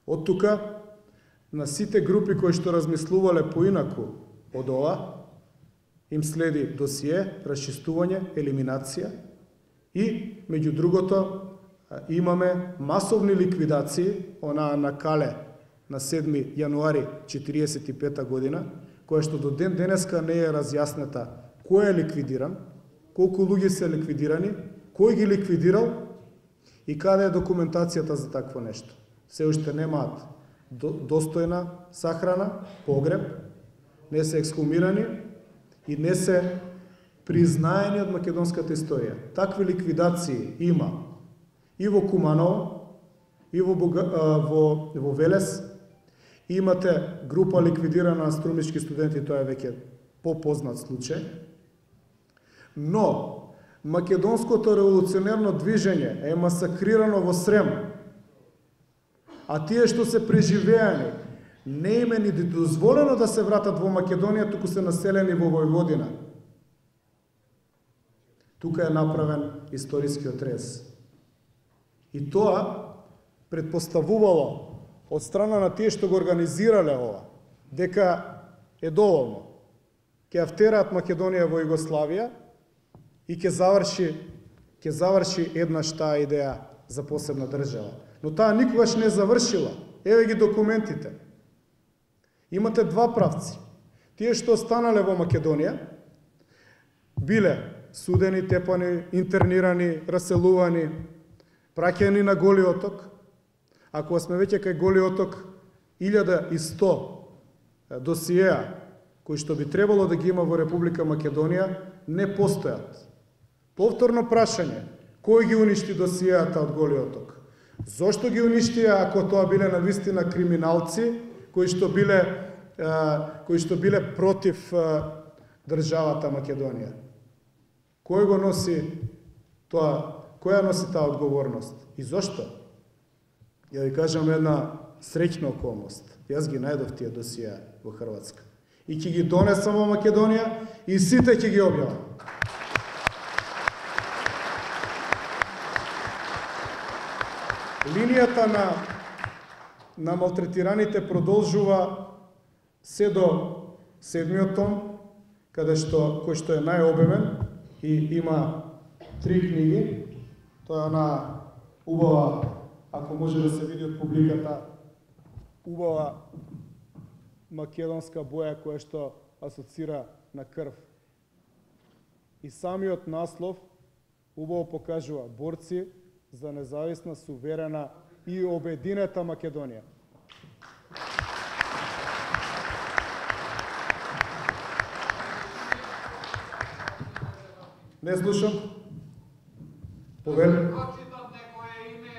Од тука, на сите групи кои што размислувале поинаку од ова, им следи досие, расчистување, елиминација и, меѓу другото, имаме масовни ликвидации, онаа на Кале на 7 јануари 1945 година, која што до ден денеска не е разјаснета кој е ликвидиран, колку луѓе се ликвидирани, кој ги ликвидирал и каде е документацијата за такво нешто. Се уште немаат достојна сахрана, погреб, не се ексхумирани и не се признаени од македонската историја. Такви ликвидации има и во Куманово, и во Велес. Имате група ликвидирана на струмички студенти, тоа е веќе попознат случај. Но македонското револуционерно движење е масакрирано во Срем, а тие што се преживеани не им е ни дозволено да се вратат во Македонија, туку се населени во Војводина. Тука е направен историскиот рез. И тоа предпоставувало од страна на тие што го организирале ова, дека е доволно. Ќе втераат Македонија во Југославија и ќе заврши еднаш таа идеја за посебна држава. Но таа никогаш не завршила. Еве ги документите. Имате два правци. Тие што останале во Македонија биле судени, тепани, интернирани, раселувани, праќани на Голи оток. Ако сме веќе кај Голи оток, 1100 досиеа кои што би требало да ги има во Република Македонија не постојат. Повторно прашање, кој ги уништи досиеата од Голи оток? Зошто ги уништија ако тоа биле навистина криминалци кои што биле против државата Македонија? Кој го носи тоа? Која носи таа одговорност? И зошто? Ја ви кажам една среќна околност. Јас ги најдов тие досија во Хрватска. И ќе ги донесам во Македонија и сите ќе ги објавам. Линијата на малтретираните продолжува се до 7-миот том, кој што е најобемен и има 3 книги. Тоа е на убава, ако може да се види од публиката, убава македонска боја која што асоцира на крв. И самиот наслов убаво покажува борци за независна, суверена и обединета Македонија. Не слушам. Повели. Прочитам некое име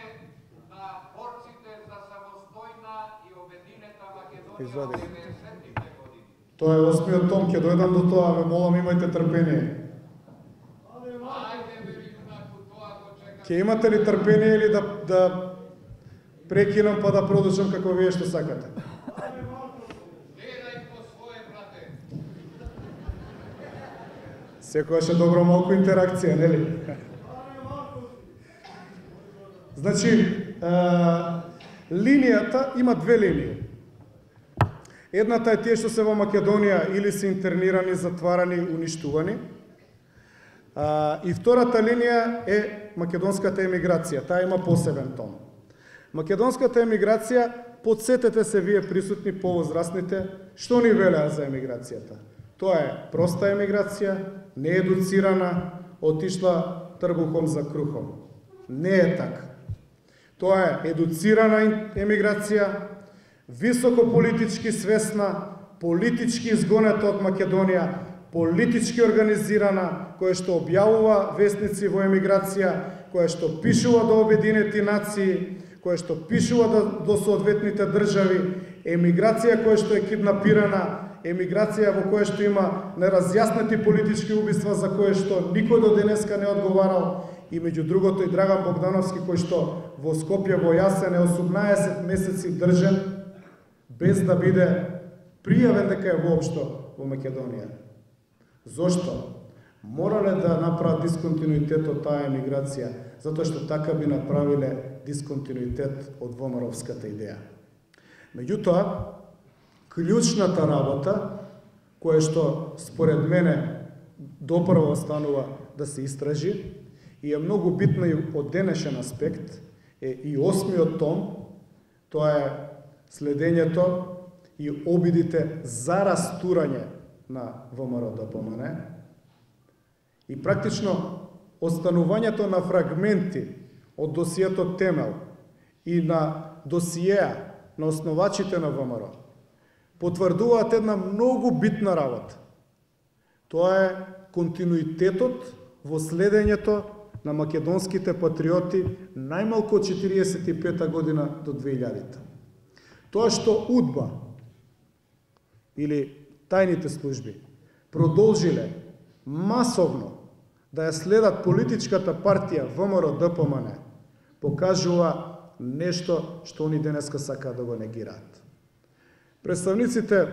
на борците за самостојна и обединета Македонија Извади. во 90-тите години. Тоа е 8-миот том, ќе дојдам до тоа, ве молам, имајте трпение. Ајде бе јунаку, тоа го чекам. Ќе имате ли трпение или да прекинам па да продолжам како вие што сакате? Гледај по свое, брате. Секогаш е добро малку интеракција, нели? Значи, линијата има две линии. Едната е тие што се во Македонија или се интернирани, затварани, уништувани. И втората линија е македонската емиграција. Таа има посебен тон. Македонската емиграција, подсетете се вие присутни повозрастните, што ни велеа за емиграцијата. Тоа е проста емиграција, неедуцирана, отишла трбухом за крухом. Не е така. Тоа е едуцирана емиграција, високо политички свесна, политички изгонета од Македонија, политички организирана, која што објавува вестници во емиграција, која што пишува до Обединети нации, која што пишува до соодветните држави, емиграција која што е киднапирана, емиграција во која што има неразјаснети политички убиства за која што никој до денеска не одговарал, и меѓу другото и Драган Богдановски кој што во Скопје во Јасен е 18 месеци држен без да биде пријавен дека е воопшто во Македонија. Зошто? Морале да направат дисконтинуитет од таа емиграција, затоа што така би направиле дисконтинуитет од ВМРО-вската идеја. Меѓутоа, клучната работа, која што според мене допрво станува да се истражи и е многу битна и од денешен аспект, е и 8-миот том, тоа е следењето и обидите за растурање на ВМРО-ДПМН и практично останувањето на фрагменти од досието Темел и на досиеа на основачите на ВМРО потврдуваат една многу битна работа. Тоа е континуитетот во следењето на македонските патриоти најмалку од 45-та година до 2000-та. Тоа што УДБА или тајните служби продолжиле масовно да ја следат политичката партија ВМРО-ДПМН покажува нешто што они денеска сакаат да го негираат. Представниците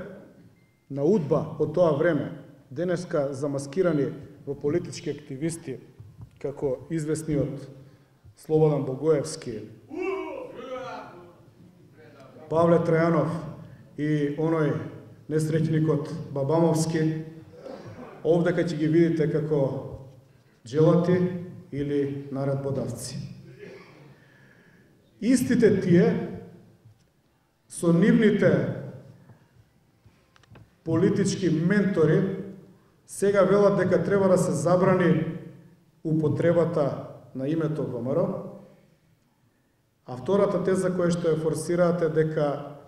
на УДБА од тоа време, денеска замаскирани во политички активисти, како известниот Слободан Богоевски, Павле Трајанов и оној несреќникот Бабамовски, овдека ќе ги видите како джелати или наредбодавци. Истите тие со нивните политички ментори сега велат дека треба да се забрани употребата на името ВМРО, а втората теза која што ја форсираат е дека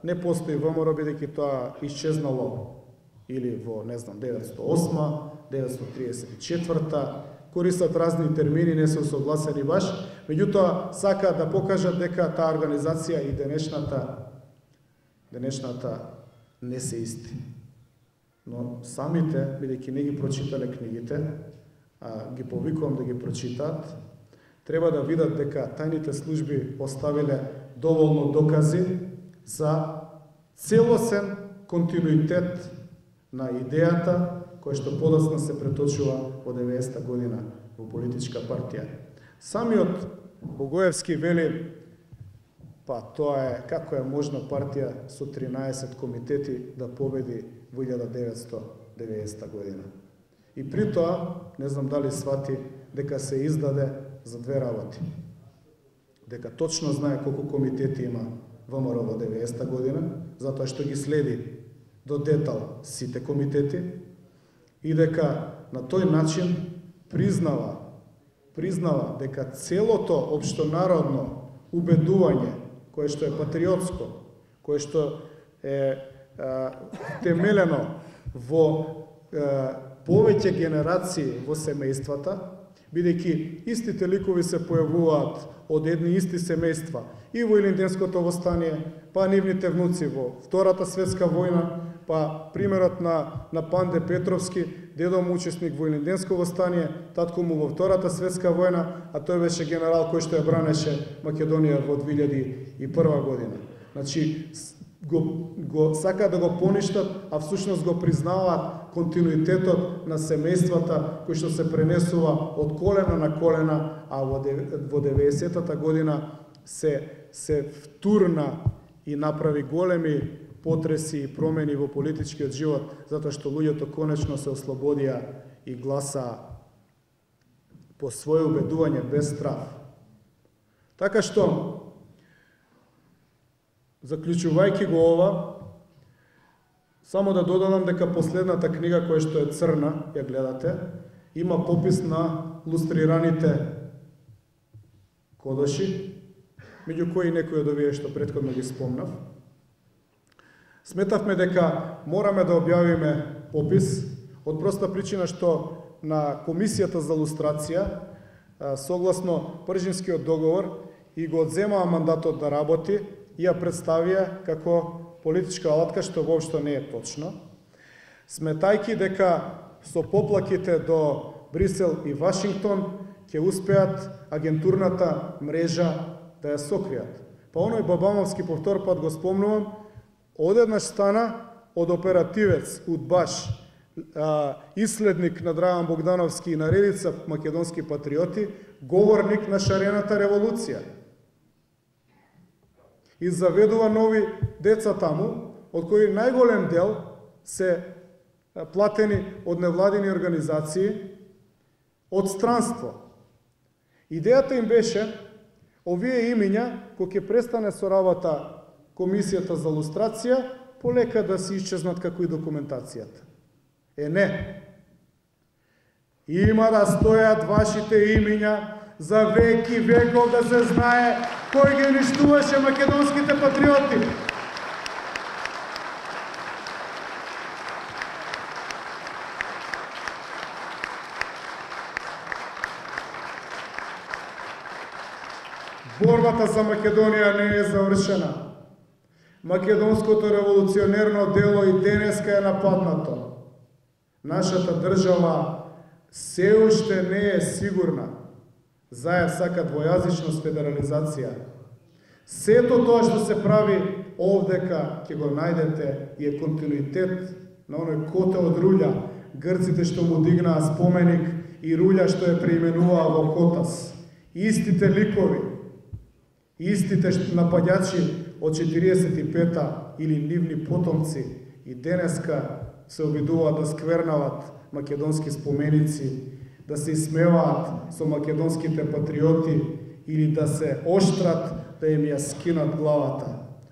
не постои ВМРО бидејќи тоа исчезнало или во, не знам, 908, 934, користат разни термини, не се согласени баш, меѓутоа сакаат да покажат дека таа организација и денешната не се исти. Но самите, бидејќи не ги прочитале книгите, а ги повикувам да ги прочитаат, треба да видат дека тајните служби оставиле доволно докази за целосен континуитет на идејата која што подоцна се преточува во 90-та година во политичка партија. Самиот Богоевски вели, па тоа е, како е можна партија со 13 комитети да победи во 1990 година. И при тоа, не знам дали свати, дека се издаде за две работи. Дека точно знае колку комитети има ВМРО во 90 година, затоа што ги следи до детал сите комитети и дека на тој начин признава дека целото општонародно убедување, кое што е патриотско, кое што е темелено во повеќе генерации во семејствата, бидејќи истите ликови се појавуваат од едни исти семејства и во Илинденското востание, па нивните внуци во Втората светска војна, па примерот на Панде Петровски, дедо му учесник во Илинденско востание, татко му во Втората светска војна, а тој беше генерал кој што ја бранеше Македонија во 2001 година. Значи, го сакаат да го поништат, а всушност го признаваат континуитетот на семејствата кој што се пренесува од колена на колена, а во 90-та година се втурна и направи големи потреси и промени во политичкиот живот, затоа што луѓето конечно се ослободија и гласаа по своје убедување без страх. Така што, заклучувајќи го ова, само да додадам дека последната книга која што е црна, ја гледате, има попис на лустрираните кодоши, меѓу кои некои од овие што претходно ги спомнав. Сметавме дека мораме да објавиме попис од проста причина што на Комисијата за лустрација, согласно Пржинскиот договор, и го одземаа мандатот да работи и ја представија како политичка алатка, што воопшто не е точно, сметајќи дека со поплаките до Брисел и Вашингтон ќе успеат агентурната мрежа да ја сокријат. Па оној Бабамовски, по втор пат го спомнувам, одеднаш стана од оперативец, удбаш, исследник на Драган Богдановски и на редица македонски патриоти, говорник на шарената револуција. И заведува нови деца таму, од кои најголем дел се платени од невладини организации, од странство. Идејата им беше овие имиња, кои ќе престане со работа Комисијата за лустрација, полека да се исчезнат како и документацијата. Не. Има да стојат вашите имиња за веки веков, да се знае кој ги уништуваше македонските патриоти. Борбата за Македонија не е завршена. Македонското револуционерно дело и денеска е нападнато. Нашата држава се уште не е сигурна. Заев сака двојазичност, федерализација. Сето тоа што се прави овдека ќе го најдете и е континуитет на оној котел од Рулја, грците што му дигнаа споменик и Рулја што е преименуваа во Котас. Истите ликови, истите нападјачи од 45-та или нивни потомци и денеска се обидуваат да сквернават македонски споменици, да се исмеваат со македонските патриоти или да се оштрат да им ја скинат главата.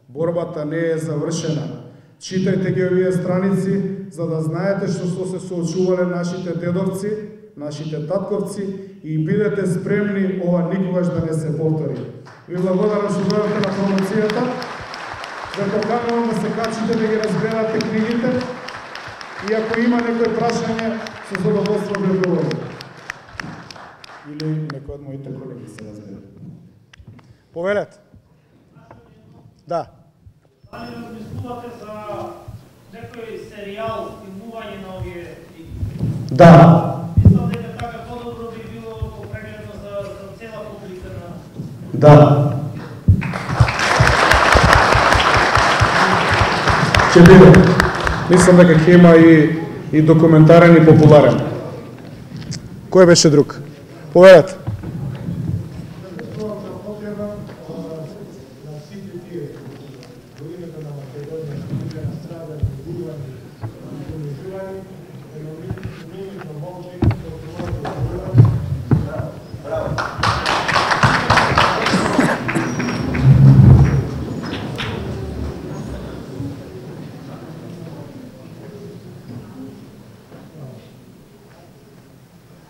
Борбата не е завршена. Читајте ги овие страници, за да знаете што се соочувале нашите дедовци, нашите татковци и бидете спремни ова никогаш да не се повтори. Ви благодарам што дојдовте на промоцијата, да поканувам да се качите да ги разгледате книгите и ако има некој прашање, со задоволство да одговорам. Или некој од моите колеги се разбере. Повелете. Да. Дали размислувате за некој серијал, филмување на овие книги? Да. Мислам дека така подобро би било попрегледно за цела публика на... Да. Ќе биде. Мислам дека ќе има и документарен и популарен. Кој беше друг? Поведете.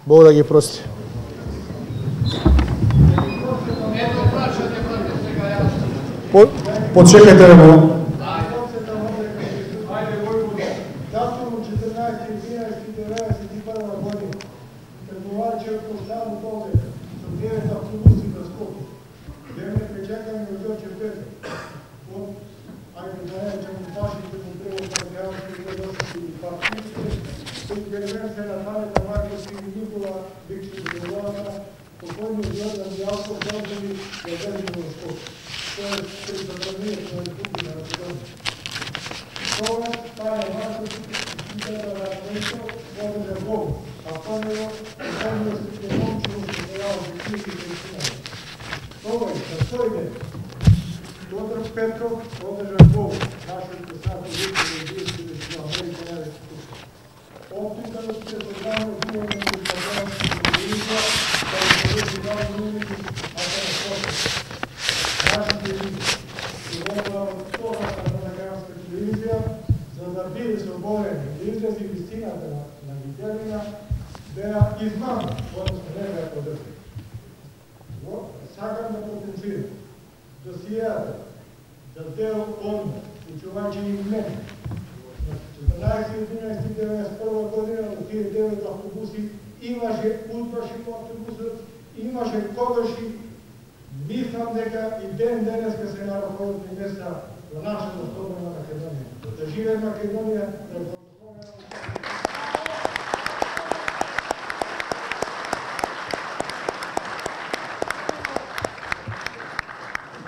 Бог да ги прости. Почекајте ме. Петров одржан Бог, нашиот председател Оптика да се создава духовна телевизија, да се создава нови телевизија, за да биде слободен и изрази вистината на виделина, да ја измама, односно не да ја подржи. Сакам да потенцирам досијата за дел одмор, учувајќи и мене. 14.11.1991 година во тие 9 автобуси имаше удбаши по автобусот, имаше когаши. Мислам дека и ден денеска се на ръководни места во нашата слободна Македонија. Да живее Македонија, да го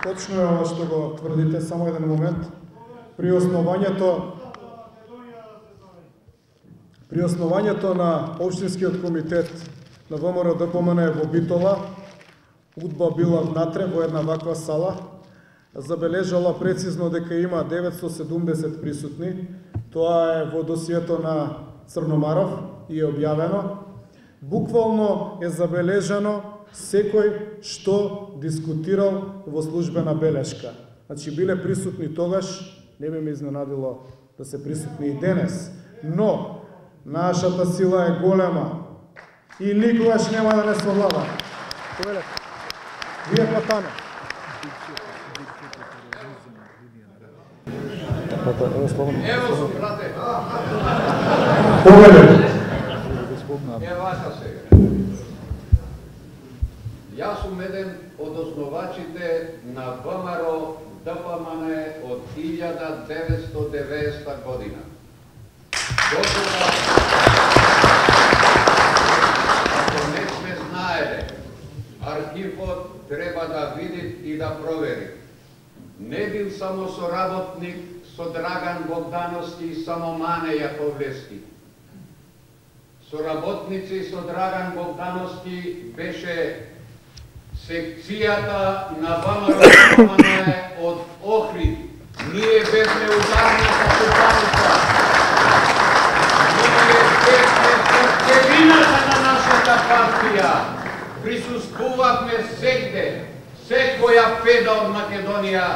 Точно е ова што го тврдите, само еден момент. При основањето на Општинскиот комитет на ВМРО ДПМН во Битола, удба била внатре во една ваква сала, забележала прецизно дека има 970 присутни. Тоа е во досието на Црномаров и е објавено. Буквално е забележано секој што дискутирал во службена белешка. Значи, биле присутни тогаш, не би ме изненадило да се присутни и денес, но нашата сила е голема и никогаш нема да не совлада. Вие патане. Ево, брате. Повеле. Ево, сега. Јас сум еден од основачите на ВМРО ДПМН од 1990 година. Дотога, ако не сме знаеле, архивот треба да види и да провери. Не бил само соработник со Драган Богдановски и само Мане Јаковлевски. Соработници со Драган Богдановски беше секцијата на ВМРО од Охрид. Ние бевме ударната ступаница. Ние бевме срцевината на нашата партија. Присуствувавме сегде. Секоја педа од Македонија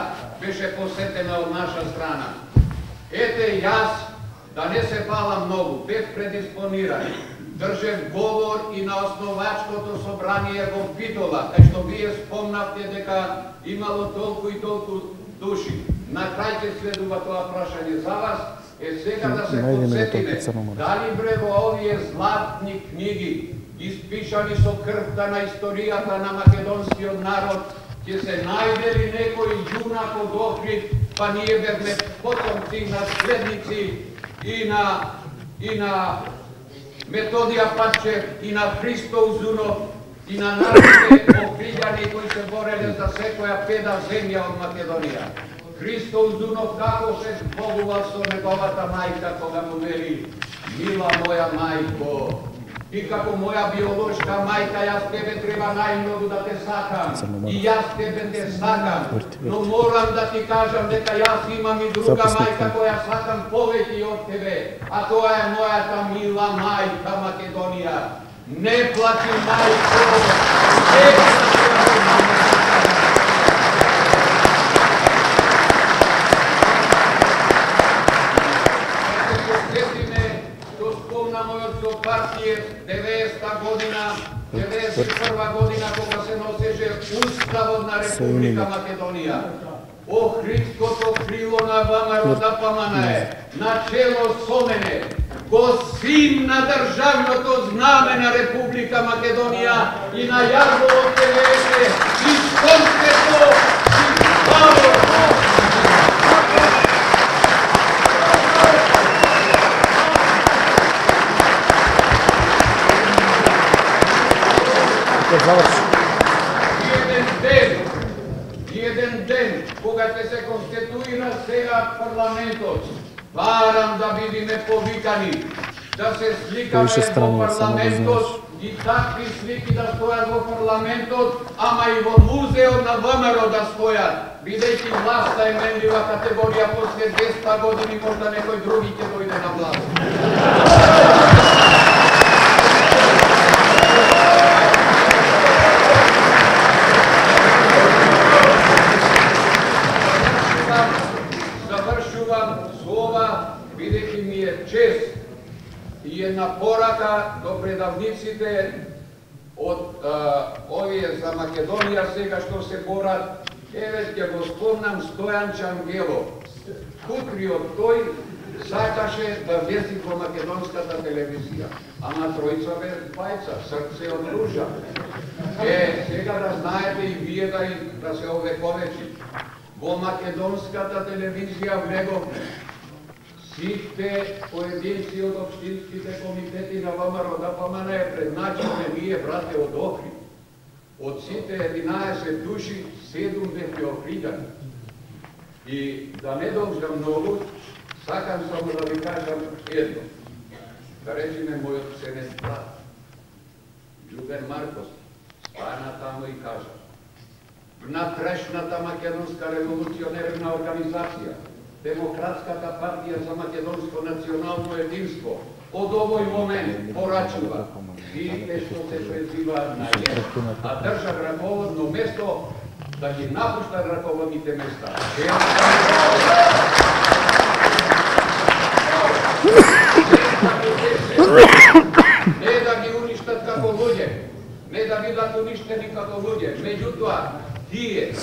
беше посетена од наша страна. Ете јас, да не се фалам многу, бев предиспониран. Држев говор и на основачкото собрание во Битола, кај што вие спомнавте дека имало толку и толку души. На крај ќе следува тоа прашање за вас, сега да се подсетиме, дали бре во овие златни книги, испишани со крвта на историјата на македонскиот народ, ќе се најде ли некој јунак од Охрид, па ние бевме потомци, наследници и на Методија Пачев, и на Христо Узунов, и на нашите охриѓани кои се бореле за секоја педа земја од Македонија. Христо Узунов како се збогувал со неговата мајка кога му вели: мила моја мајко, и како моја биолошка мајка, јас тебе треба најмногу да те сакам, и јас тебе те сакам, но морам да ти кажам дека јас имам и друга мајка која сакам повеќе од тебе, а тоа е мојата мила мајка Македонија. Не плачи, мајко, не плачи. Мојот партија 90-та година, 91-ва година, кога се носеше Уставот на Република Македонија. Охридското крило на ВМРО ДПМН на чело со мене, го симна државното знаме на Република Македонија и на јарбовот ТВС и сонцето и славото. Еден ден, кога ќе се конституира сега парламентот, барам да бидеме повикани, да се сликаме во парламентот и такви слики да стојат во парламентот, ама и во музеот на ВМРО да стојат, бидејќи власта е менлива категорија, после 200 години можда некој други ќе дојде на власт. Бидејќи ми е чест и една порака до предавниците од овие за Македонија сега што се борат, еве ќе го спомнам Стојан Чангелов. Утриот тој сакаше да влезе во македонската телевизија, ама тројца без двајца, срце од ружа. Сега да знаете и вие да се овековечи. Во македонската телевизија влегов сите поединци од општинските комитети на ВМРО ДПМН предначалме ние, брате, од Охрид. Од сите 11 души, 7 бевме охридани. И да не должам многу, сакам само да ви кажам едно. Да речеме мојот сенет брат, Љубен Маркос, стана тамо и кажа: внатрешната македонска револуционерна организација, Демократската партија за македонско национално единство, од овој момент порачува сите што се презиваат на јес, а држат раководно место да ги напуштат раководните места. Не да ги уништат како луѓе, не да бидат уништени како луѓе, меѓутоа тие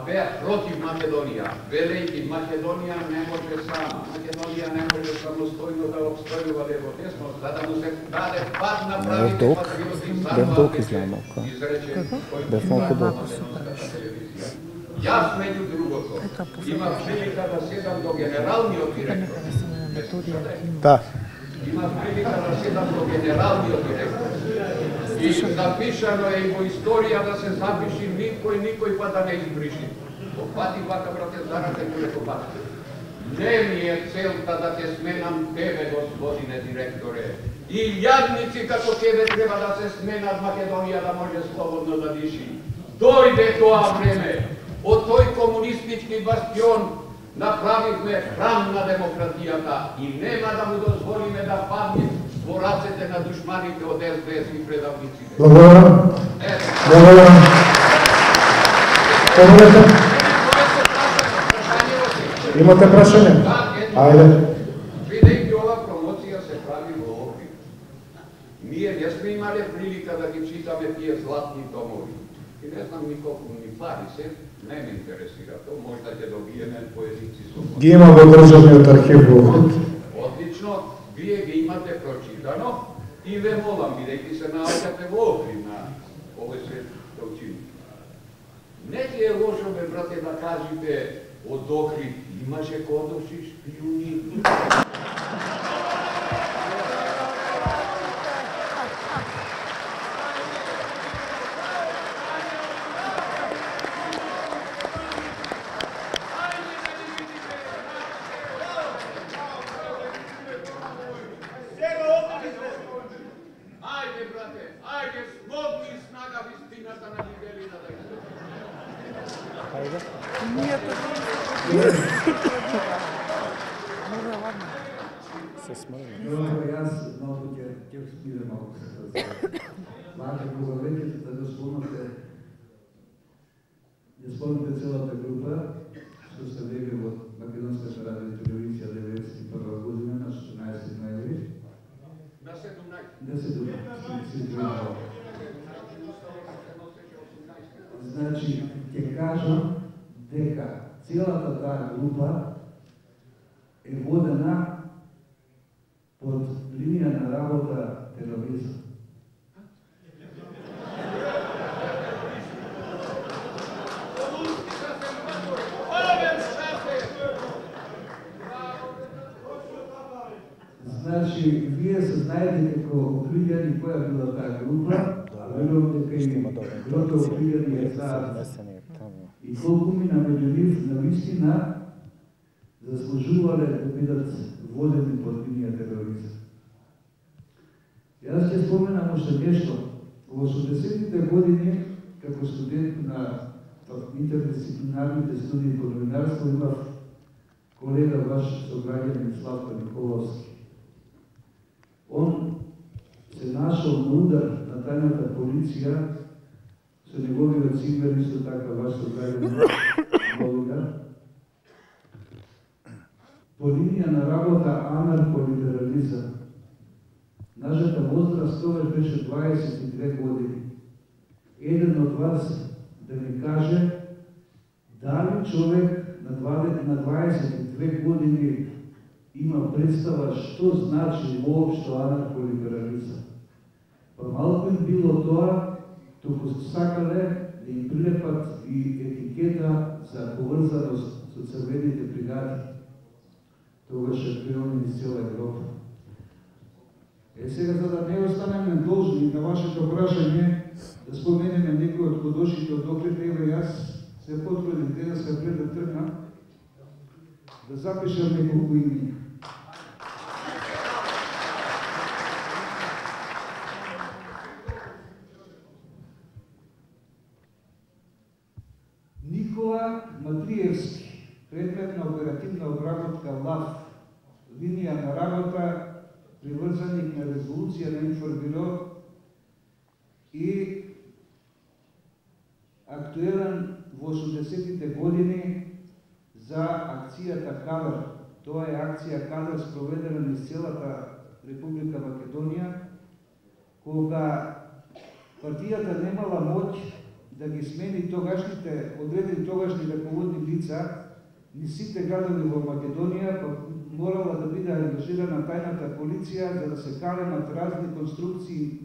беа против Македонија, велејќи Македонија не може сама, Македонија не може самостојно да обстојува во десно, за да му се даде пат на правите патриоти сам изречен кој телевизија. Јас меѓу другото имав прилика да седам до генералниот директор. Имав прилика да седам до генералниот директор. И запишано е и во историја да се запиши никој па да не избриши. Опати вака, брате, зарате кој пат. Не ми е целта да те сменам тебе, господине директоре. И јадници како тебе треба да се сменат Македонија да може слободно да диши. Дојде тоа време. Од тој комунистички бастион направивме храм на демократијата и нема да му дозволиме да падне во рацете на душманите од СДС и предавниците. Благодарам. Благодарам. Имате прашање? Ајде. Бидејќи ова промоција се прави во Охрид, ние не сме имале прилика да ги читаме тие златни томови. И не знам николку ни пари се, не ме интересира тоа, можда ќе добиеме поединци со... Ги има во државниот архив во Охрид. Одлично, вие ги имате прочитано и ве молам, бидејќи се наоѓате во Охрид на овој свет да учините. Не ти е лошо, бе, брате, да кажете од Охрид имаше кодовши шпиуни. Ајде, брате, ајде, смогни снага вистината на Мигелина да излезе. Се смрли. Јас малку ќе спирам малку се тоа. Вака кога веќе да го спомнате целата група што сте били во Македонската радио и телевизија 91 година на 16 ноември. На 17. таа група е водена под линија на работа тероризам. Значи, вие се знаете како окрилјани која била таа група, верувам дека и групата окрилјани е знаат и колку мина меѓу нив навистина заслужувале да бидат водени под линија тероризам. Јас ќе споменам уште нешто. Во 80-тите години, како студент на интердисциплинарните студии по новинарство, имав колега ваш сограѓанин Славко Николовски. Он се нашол на удар на тајната полиција со неговиот сингер, исто така ваш сограѓанин Волга, по линија на работа анархолиберализам. Нашата возраст тогаш беше 22 години. Еден од вас да ми каже дали човек на 22 години има представа што значи воопшто анархолиберализам. Па малку им било тоа, туку сакале да им прилепат и етикета за поврзаност со црвените бригади. Тогаш шампиони из цела Европа. Сега, за да не останеме должни на вашето прашање, да споменеме некои од кодошите од Охрид, ева јас се потрудив денеска пред да тргнам, да запишам неколку имена. Никола Матриевски, предмет на оперативна обработка ЛАВ, линија на работа, приврзаник на резолуција на Информбюро и актуелен во 80-тите години за акцијата Кадар. Тоа е акција Кадар спроведена низ целата Република Македонија, кога партијата немала моќ да ги смени тогашните, одредени тогашни раководни лица низ сите градови во Македонија, морала да биде ангажирана тајната полиција за да се калемат разни конструкции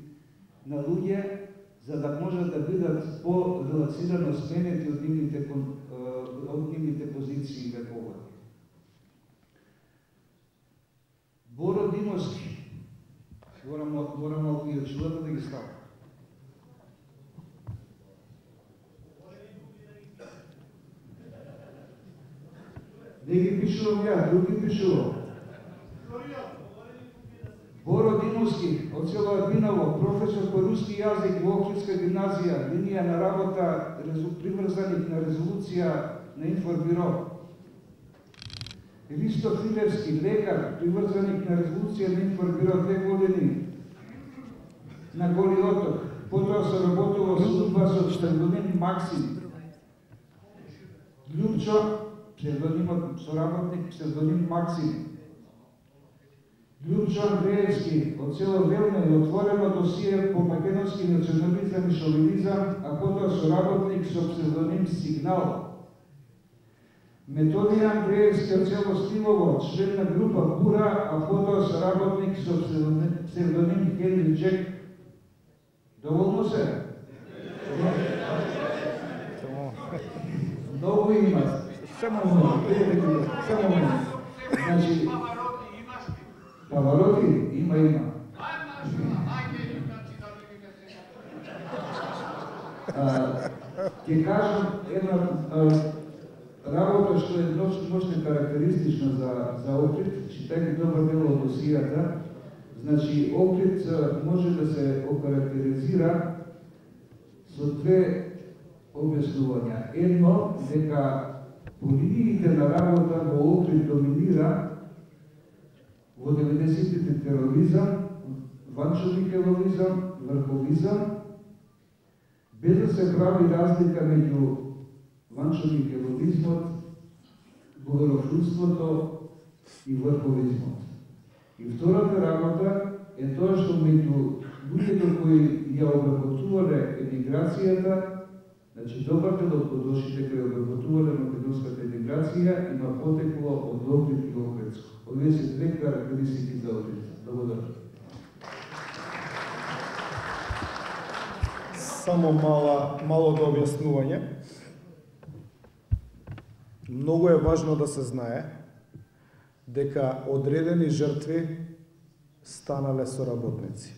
на луѓе, за да можат да бидат по-релаксирано сменети од нивните позиции и вековања. Боро Димовски, морам малку и очилата да ги ставам. Не ги пишувам ја, други пишувам. Боро Димовски, од село Арбиново, професор по руски јазик во Охридска гимназија, линија на работа, приврзаник на резолуција на Информбюро. Ристо Филевски, лекар, приврзаник на резолуција на Информбюро 2 години на Голи Оток. Потоа се работува со УДБА со псевдоним Максим. Љупчо, псевдонимот соработник, псевдоним Максим. Љупчо Андреевски, од село Велна е отворено досие по македонски национализам и шовинизам, а потоа соработник со псевдоним Сигнал. Методија Андреевски од село Стилово, член на група Бура, а потоа соработник со псевдоним Хенри Джек. Доволно се? Многу има. Само значи, Павароти има. Ќе кажам една работа што е ношно карактеристична за Охрид, читајќи добар дел од досијата. Значи, Охрид може да се окарактеризира со две објаснувања. Едно, дека по линиите на работа во Охрид доминира во 90-тите тероризам, ванчо-микеловизам, врховизам, без да се прави разлика меѓу ванчо-микеловизмот, богословството и врховизмот. И втората работа е тоа што меѓу луѓето кои ја обработувале емиграцијата Значи, добар дел од кодошите кои обработувале македонската интеграција има потекло од Охрид и Охридско. Овие се две карактеристики за Охрид. Благодарам. Само мало да објаснување. Многу е важно да се знае дека одредени жртви станале соработници.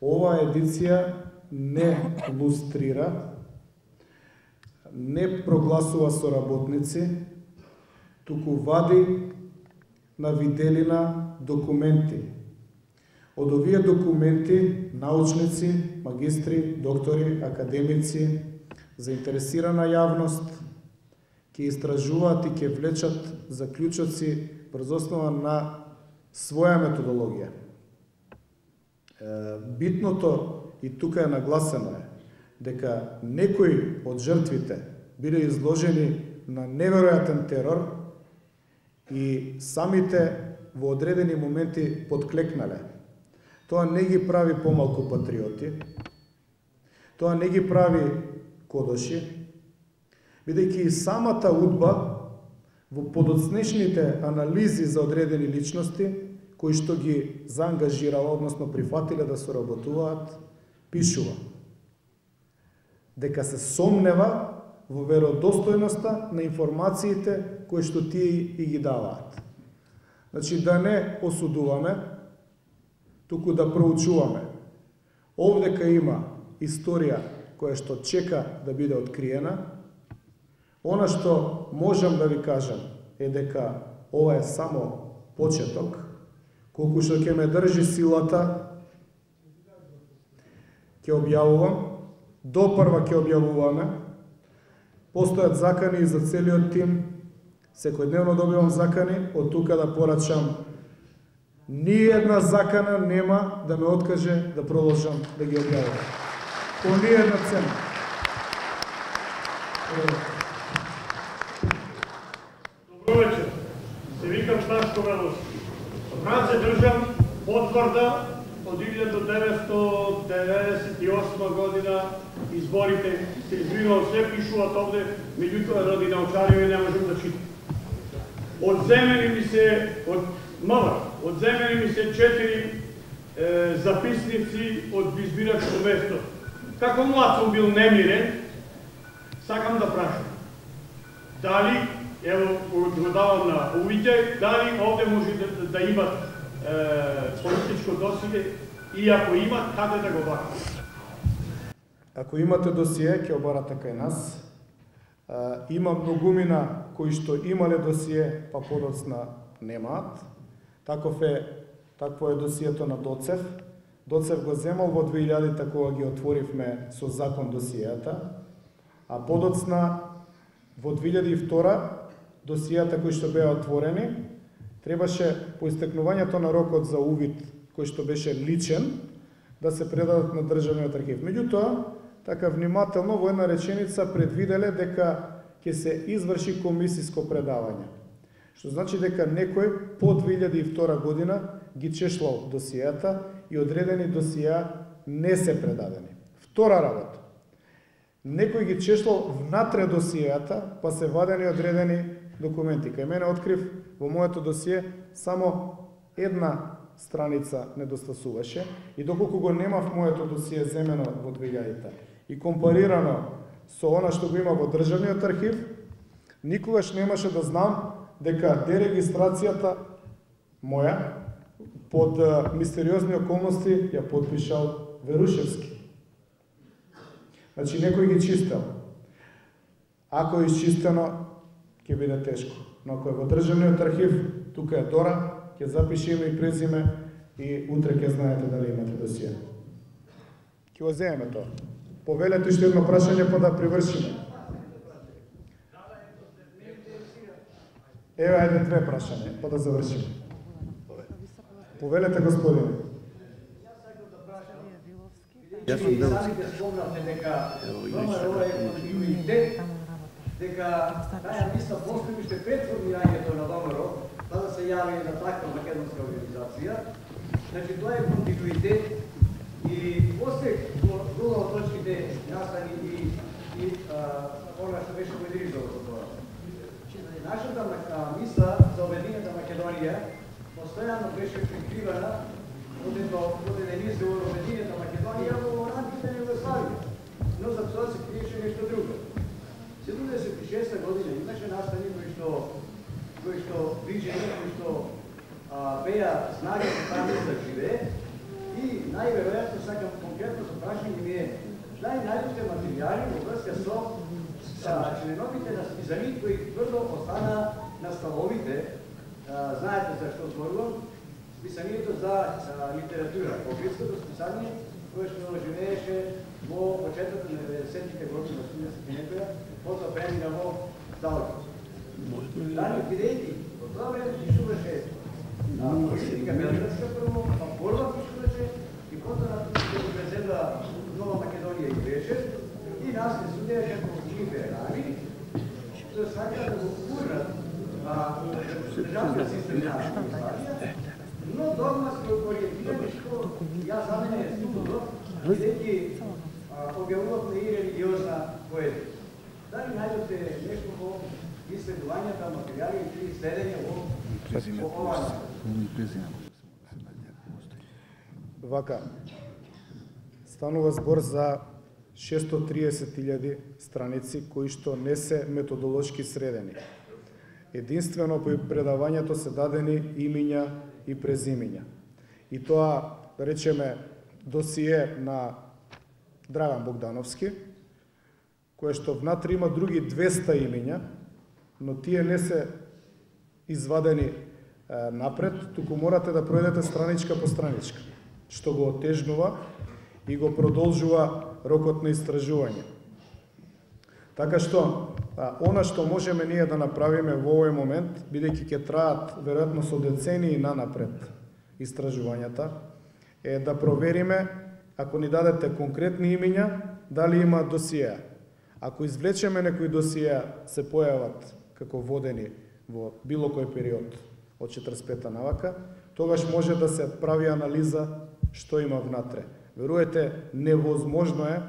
Оваа едиција не лустрира, не прогласува соработници, туку вади на виделина документи. Од овие документи научници, магистри, доктори, академици, заинтересирана јавност ќе истражуваат и ќе влечат заклучоци врз основа на своја методологија. Битното и тука е нагласено дека некои од жртвите биле изложени на неверојатен терор и самите во одредени моменти подклекнале. Тоа не ги прави помалку патриоти, тоа не ги прави кодоши, бидејќи и самата удба во подоцнешните анализи за одредени личности, кои што ги заангажирала, односно прифатиле да соработуваат, пишува дека се сомнева во веродостојноста на информациите кои што тие и ги даваат. Значи, да не осудуваме, туку да проучуваме. Овдека има историја која што чека да биде откриена. Она што можам да ви кажам е дека ова е само почеток, колку што ќе ме држи силата, ќе објавувам, допрва ќе објавуваме, постојат закани и за целиот тим, секојдневно добивам закани, од тука да порачам, ни една закана нема да ме откаже да продолжам да ги објавувам. По ни една цена. Добро вечер. Се викам Сташко Велос. Брат се држам потврда од 1998 година изборите се извинувам, се пишуваат овде, меѓутоа ради научариве не можам да читам. Одземени ми се одземени ми се 4 записници од избирачко место. Како млад сум бил немирен, сакам да прашам. Дали, ево, го давам на увиќе, дали овде може да имат политичко досие и ако имат, каде да го барат? Ако имате досие, ќе обарате кај нас. Има многумина кои што имале досие, па подоцна немаат. Такво е досието на Доцев. Доцев го земал во 2000-та кога ги отворивме со закон досијата, а подоцна во 2002 досијата кои што беа отворени, требаше по истекнувањето на рокот за увид, кој што беше личен, да се предадат на Државниот архив. Меѓутоа, така внимателно во една реченица предвиделе дека ќе се изврши комисиско предавање. Што значи дека некој по 2002 година ги чешлал досијата и одредени досија не се предадени. Втора работа. Некој ги чешлал внатре досијата, па се вадени одредени документи. Кај мене открив во моето досие само една страница недостасуваше и доколку го немав моето досие земено во 2000-та и компарирано со она што го има во Државниот архив, никогаш немаше да знам дека дерегистрацијата моја под мистериозни околности ја подпишал Верушевски. Значи некој ги чистел. Ако е изчистено, ќе биде тешко. Но ако е во Државниот архив, тука е Дора, ќе запише име и презиме и утре ќе знаете дали имате досие. Ќе го земеме тоа. Повелете уште едно прашање па да привршиме. Еве, ајде две прашања, па да завршиме. Повелете, господине. Јас сум бил. Спомнавте дека ова е континуитет, дека таа мисла постои уште пред формирањето на ВМРО, па да се јави на таква македонска организација. Значи, тоа е континуитет и после друга од точки неговите настани и она што беше моделизирано со тоа. Нашата мисла за Обединета Македонија постојано беше прикривана од еден изговор Обединета Македонија во рамките на Југославија, но за тоа се криеше нешто друго. 76 година имаше настани кои што вижени, кои што беа снага за таму да живее и најверојатно сакам конкретно со прашање ми е дали најдовте материјали во врска со членовите на списаните кои тврдо остана на столовите. Знаете за што зборувам? Списанието за литература, Охридското списание, кое што живееше во почетокот на 90-тите години на студентските некоја, потоа премина во Залкос. Дали бидејќи во тоа време пишуваше политика белградска прво, па борба пишуваше и потоа на тоа се презедва Нова Македонија и беше и нас не судеа како либерали, што сакаа да го гурнат државниот систем на Југославија, но догматски ориентирани што јас за мене е студо, бидејќи објавувавме и религиозна поезија. Дали најдовте нешто во исследувањата, материјали и следење во оваа? Вака, станува збор за 630.000 страници кои што не се методолошки средени. Единствено по предавањето се дадени имиња и презимиња. И тоа, да речеме, досие на Драган Богдановски, кое што внатре има други 200 имиња, но тие не се извадени напред, туку морате да пројдете страничка по страничка, што го отежнува и го продолжува рокот на истражување. Така што, она што можеме ние да направиме во овој момент, бидејќи ќе траат веројатно со децении нанапред истражувањата, е да провериме, ако ни дадете конкретни имиња, дали има досиеа. Ако извлечеме некои досиеа се појават како водени во било кој период од 45-та навака, тогаш може да се прави анализа што има внатре. Веруете, невозможно е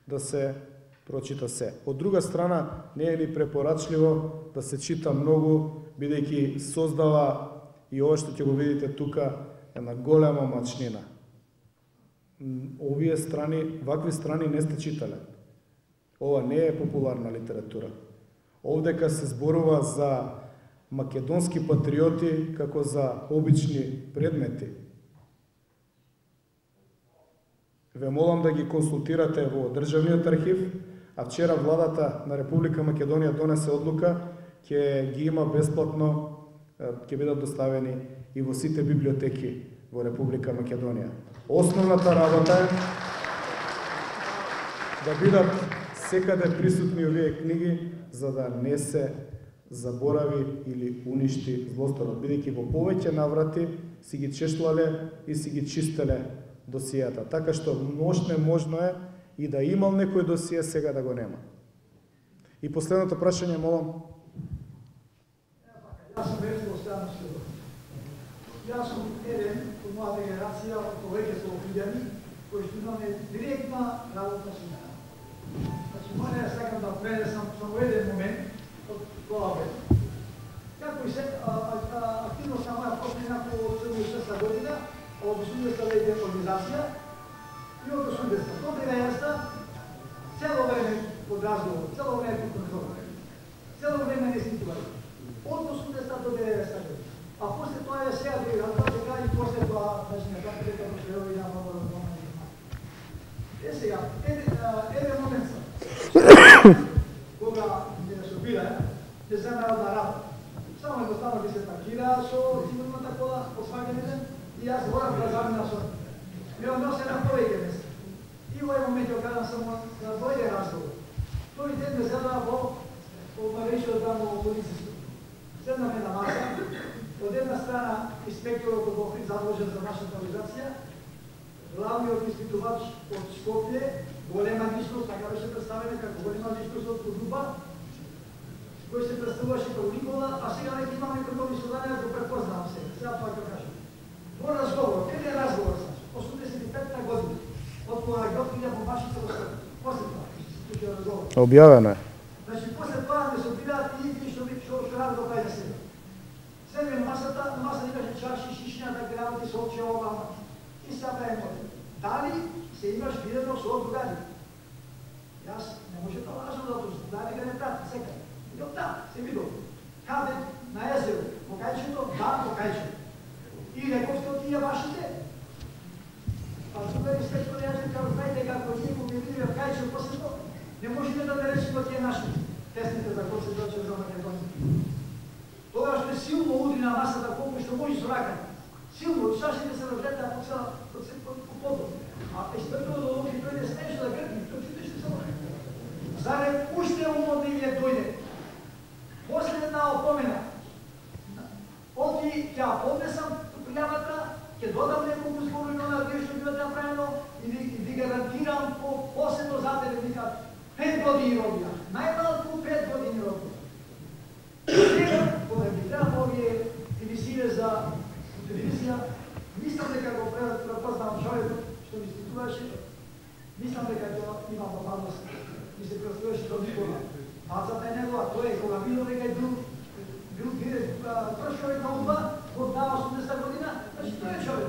да се прочита се. Од друга страна, не е ни препорачливо да се чита многу, бидејќи создава и ова што ќе го видите тука една голема мачнина. Овие страни, вакви страни не сте читале. Ова не е популарна литература. Овдека се зборува за македонски патриоти како за обични предмети. Ве молам да ги консултирате во Државниот архив, а вчера владата на Република Македонија донесе одлука, ќе ги има бесплатно, ќе бидат доставени и во сите библиотеки во Република Македонија. Основната работа е да бидат секаде присутни овие книги, за да не се заборави или уништи злосторот, бидејќи во повеќе наврати си ги чешлале и си ги чистеле досијата. Така што можно е и да имал некој досије, сега да го нема. И последното прашање, молам. Јас сум Веско Станишев. Јас сум еден од мојата генерација, од повеќе со луѓе кои што имаме директна работа со неа. Значи, моја сакам да пренесам само еден момент од тоа време. Како и се активност на моја почина по 76 година, од 80-та организација и од 80-та до 90-та цело време под разговор, цело време под контрол, цело време не ститували. Од 80-та до 90-та година. А после тоа е сега друга, тоа сега и после тоа, значи, на така дека прошлеови на много разговор. Е сега, еден момент сам. Кога не собира, ќе се народна работа. Само едноставно би се паркира со сигурната кола, посваќен ден, и јас морам да заминам со ме односе на повеќе места. И во овој момент ја кажам само на дојде разговор. Тој ден ме зела во Маришо тамо во полицијско. Седнаме на маса, од една страна инспекторот од Охрид задолжен за нашата организација, главниот испитувач од Скопје, голема личност, така беше представена како голема личност од Кудуба, кој се представуваше како Никола, а сега веќе имаме контролни сознанија да го препознавам се. Сега тоа ќе кажам. Во разговор, каде е разговор, 85-та година, од кога ги открија бомбашите во Скопје. Објавено е. Значи, после тоа не се обидаат и што ради до кај да се. Седме на масата имаше чаши, шишња, да грамоти со очи ова. И сега правим оди. Дали се имаш видено со другари? Јас не може да лажам затоа што дали га не прати секај. Идем да, се видов. Каде? На езеро. По кајчето? Да, по кајчето. И рековте од тие вашите? Па другари след тоа јас кажу, знаете како ние го видиме в кајчето после тоа, не можеме да не речеме тие наши тесните за кои се доче за Македонија. Тогаш ме силно удри на масата колку што може со рака. Силно, шашите се разлета по подот. А експертот да луки дојде смешно да гркне, тоа чудеше само. Зарем уште умоднивие дојде. После една опомена. Оти ќе поднесам пријавата, ќе додам неколку зборови на оние што било направено и ви гарантирам посебно за тебе вика 5 години робија. Најмалку 5 години робија. Сега, кога ги треба овие емисиите за телевизија, мислам дека го препознавам човекот што ми спитуваше, мислам дека тоа има моралност, ми се представуваше до Никола. Базата е негова, тој е кога видел дека е бил прв човек на УДБА, го дава 80 година, значи тој е човек.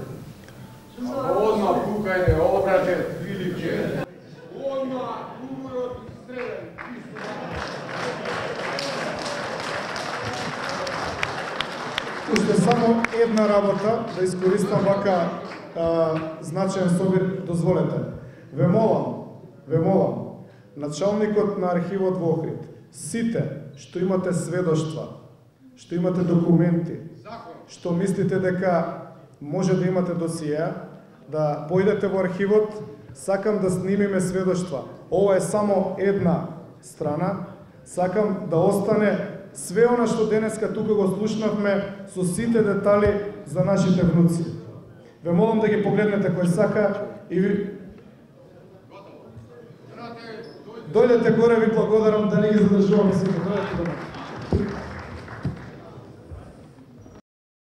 Одма пукајне, обраче, Филипче. Одма, умрот, стрелен, Уште само една работа да искористам вака значаен собир, дозволете. Ве молам, началникот на архивот во Охрид, сите што имате сведоштва, што имате документи, што мислите дека може да имате досиеа, да појдете во архивот, сакам да снимиме сведоштва. Ова е само една страна, сакам да остане све она што денеска тука го слушнавме со сите детали за нашите внуци. Ве молам да ги погледнете кој сака и ви... Дојдете горе, ви благодарам да не ги задржуваме сите. Дојдете до мене.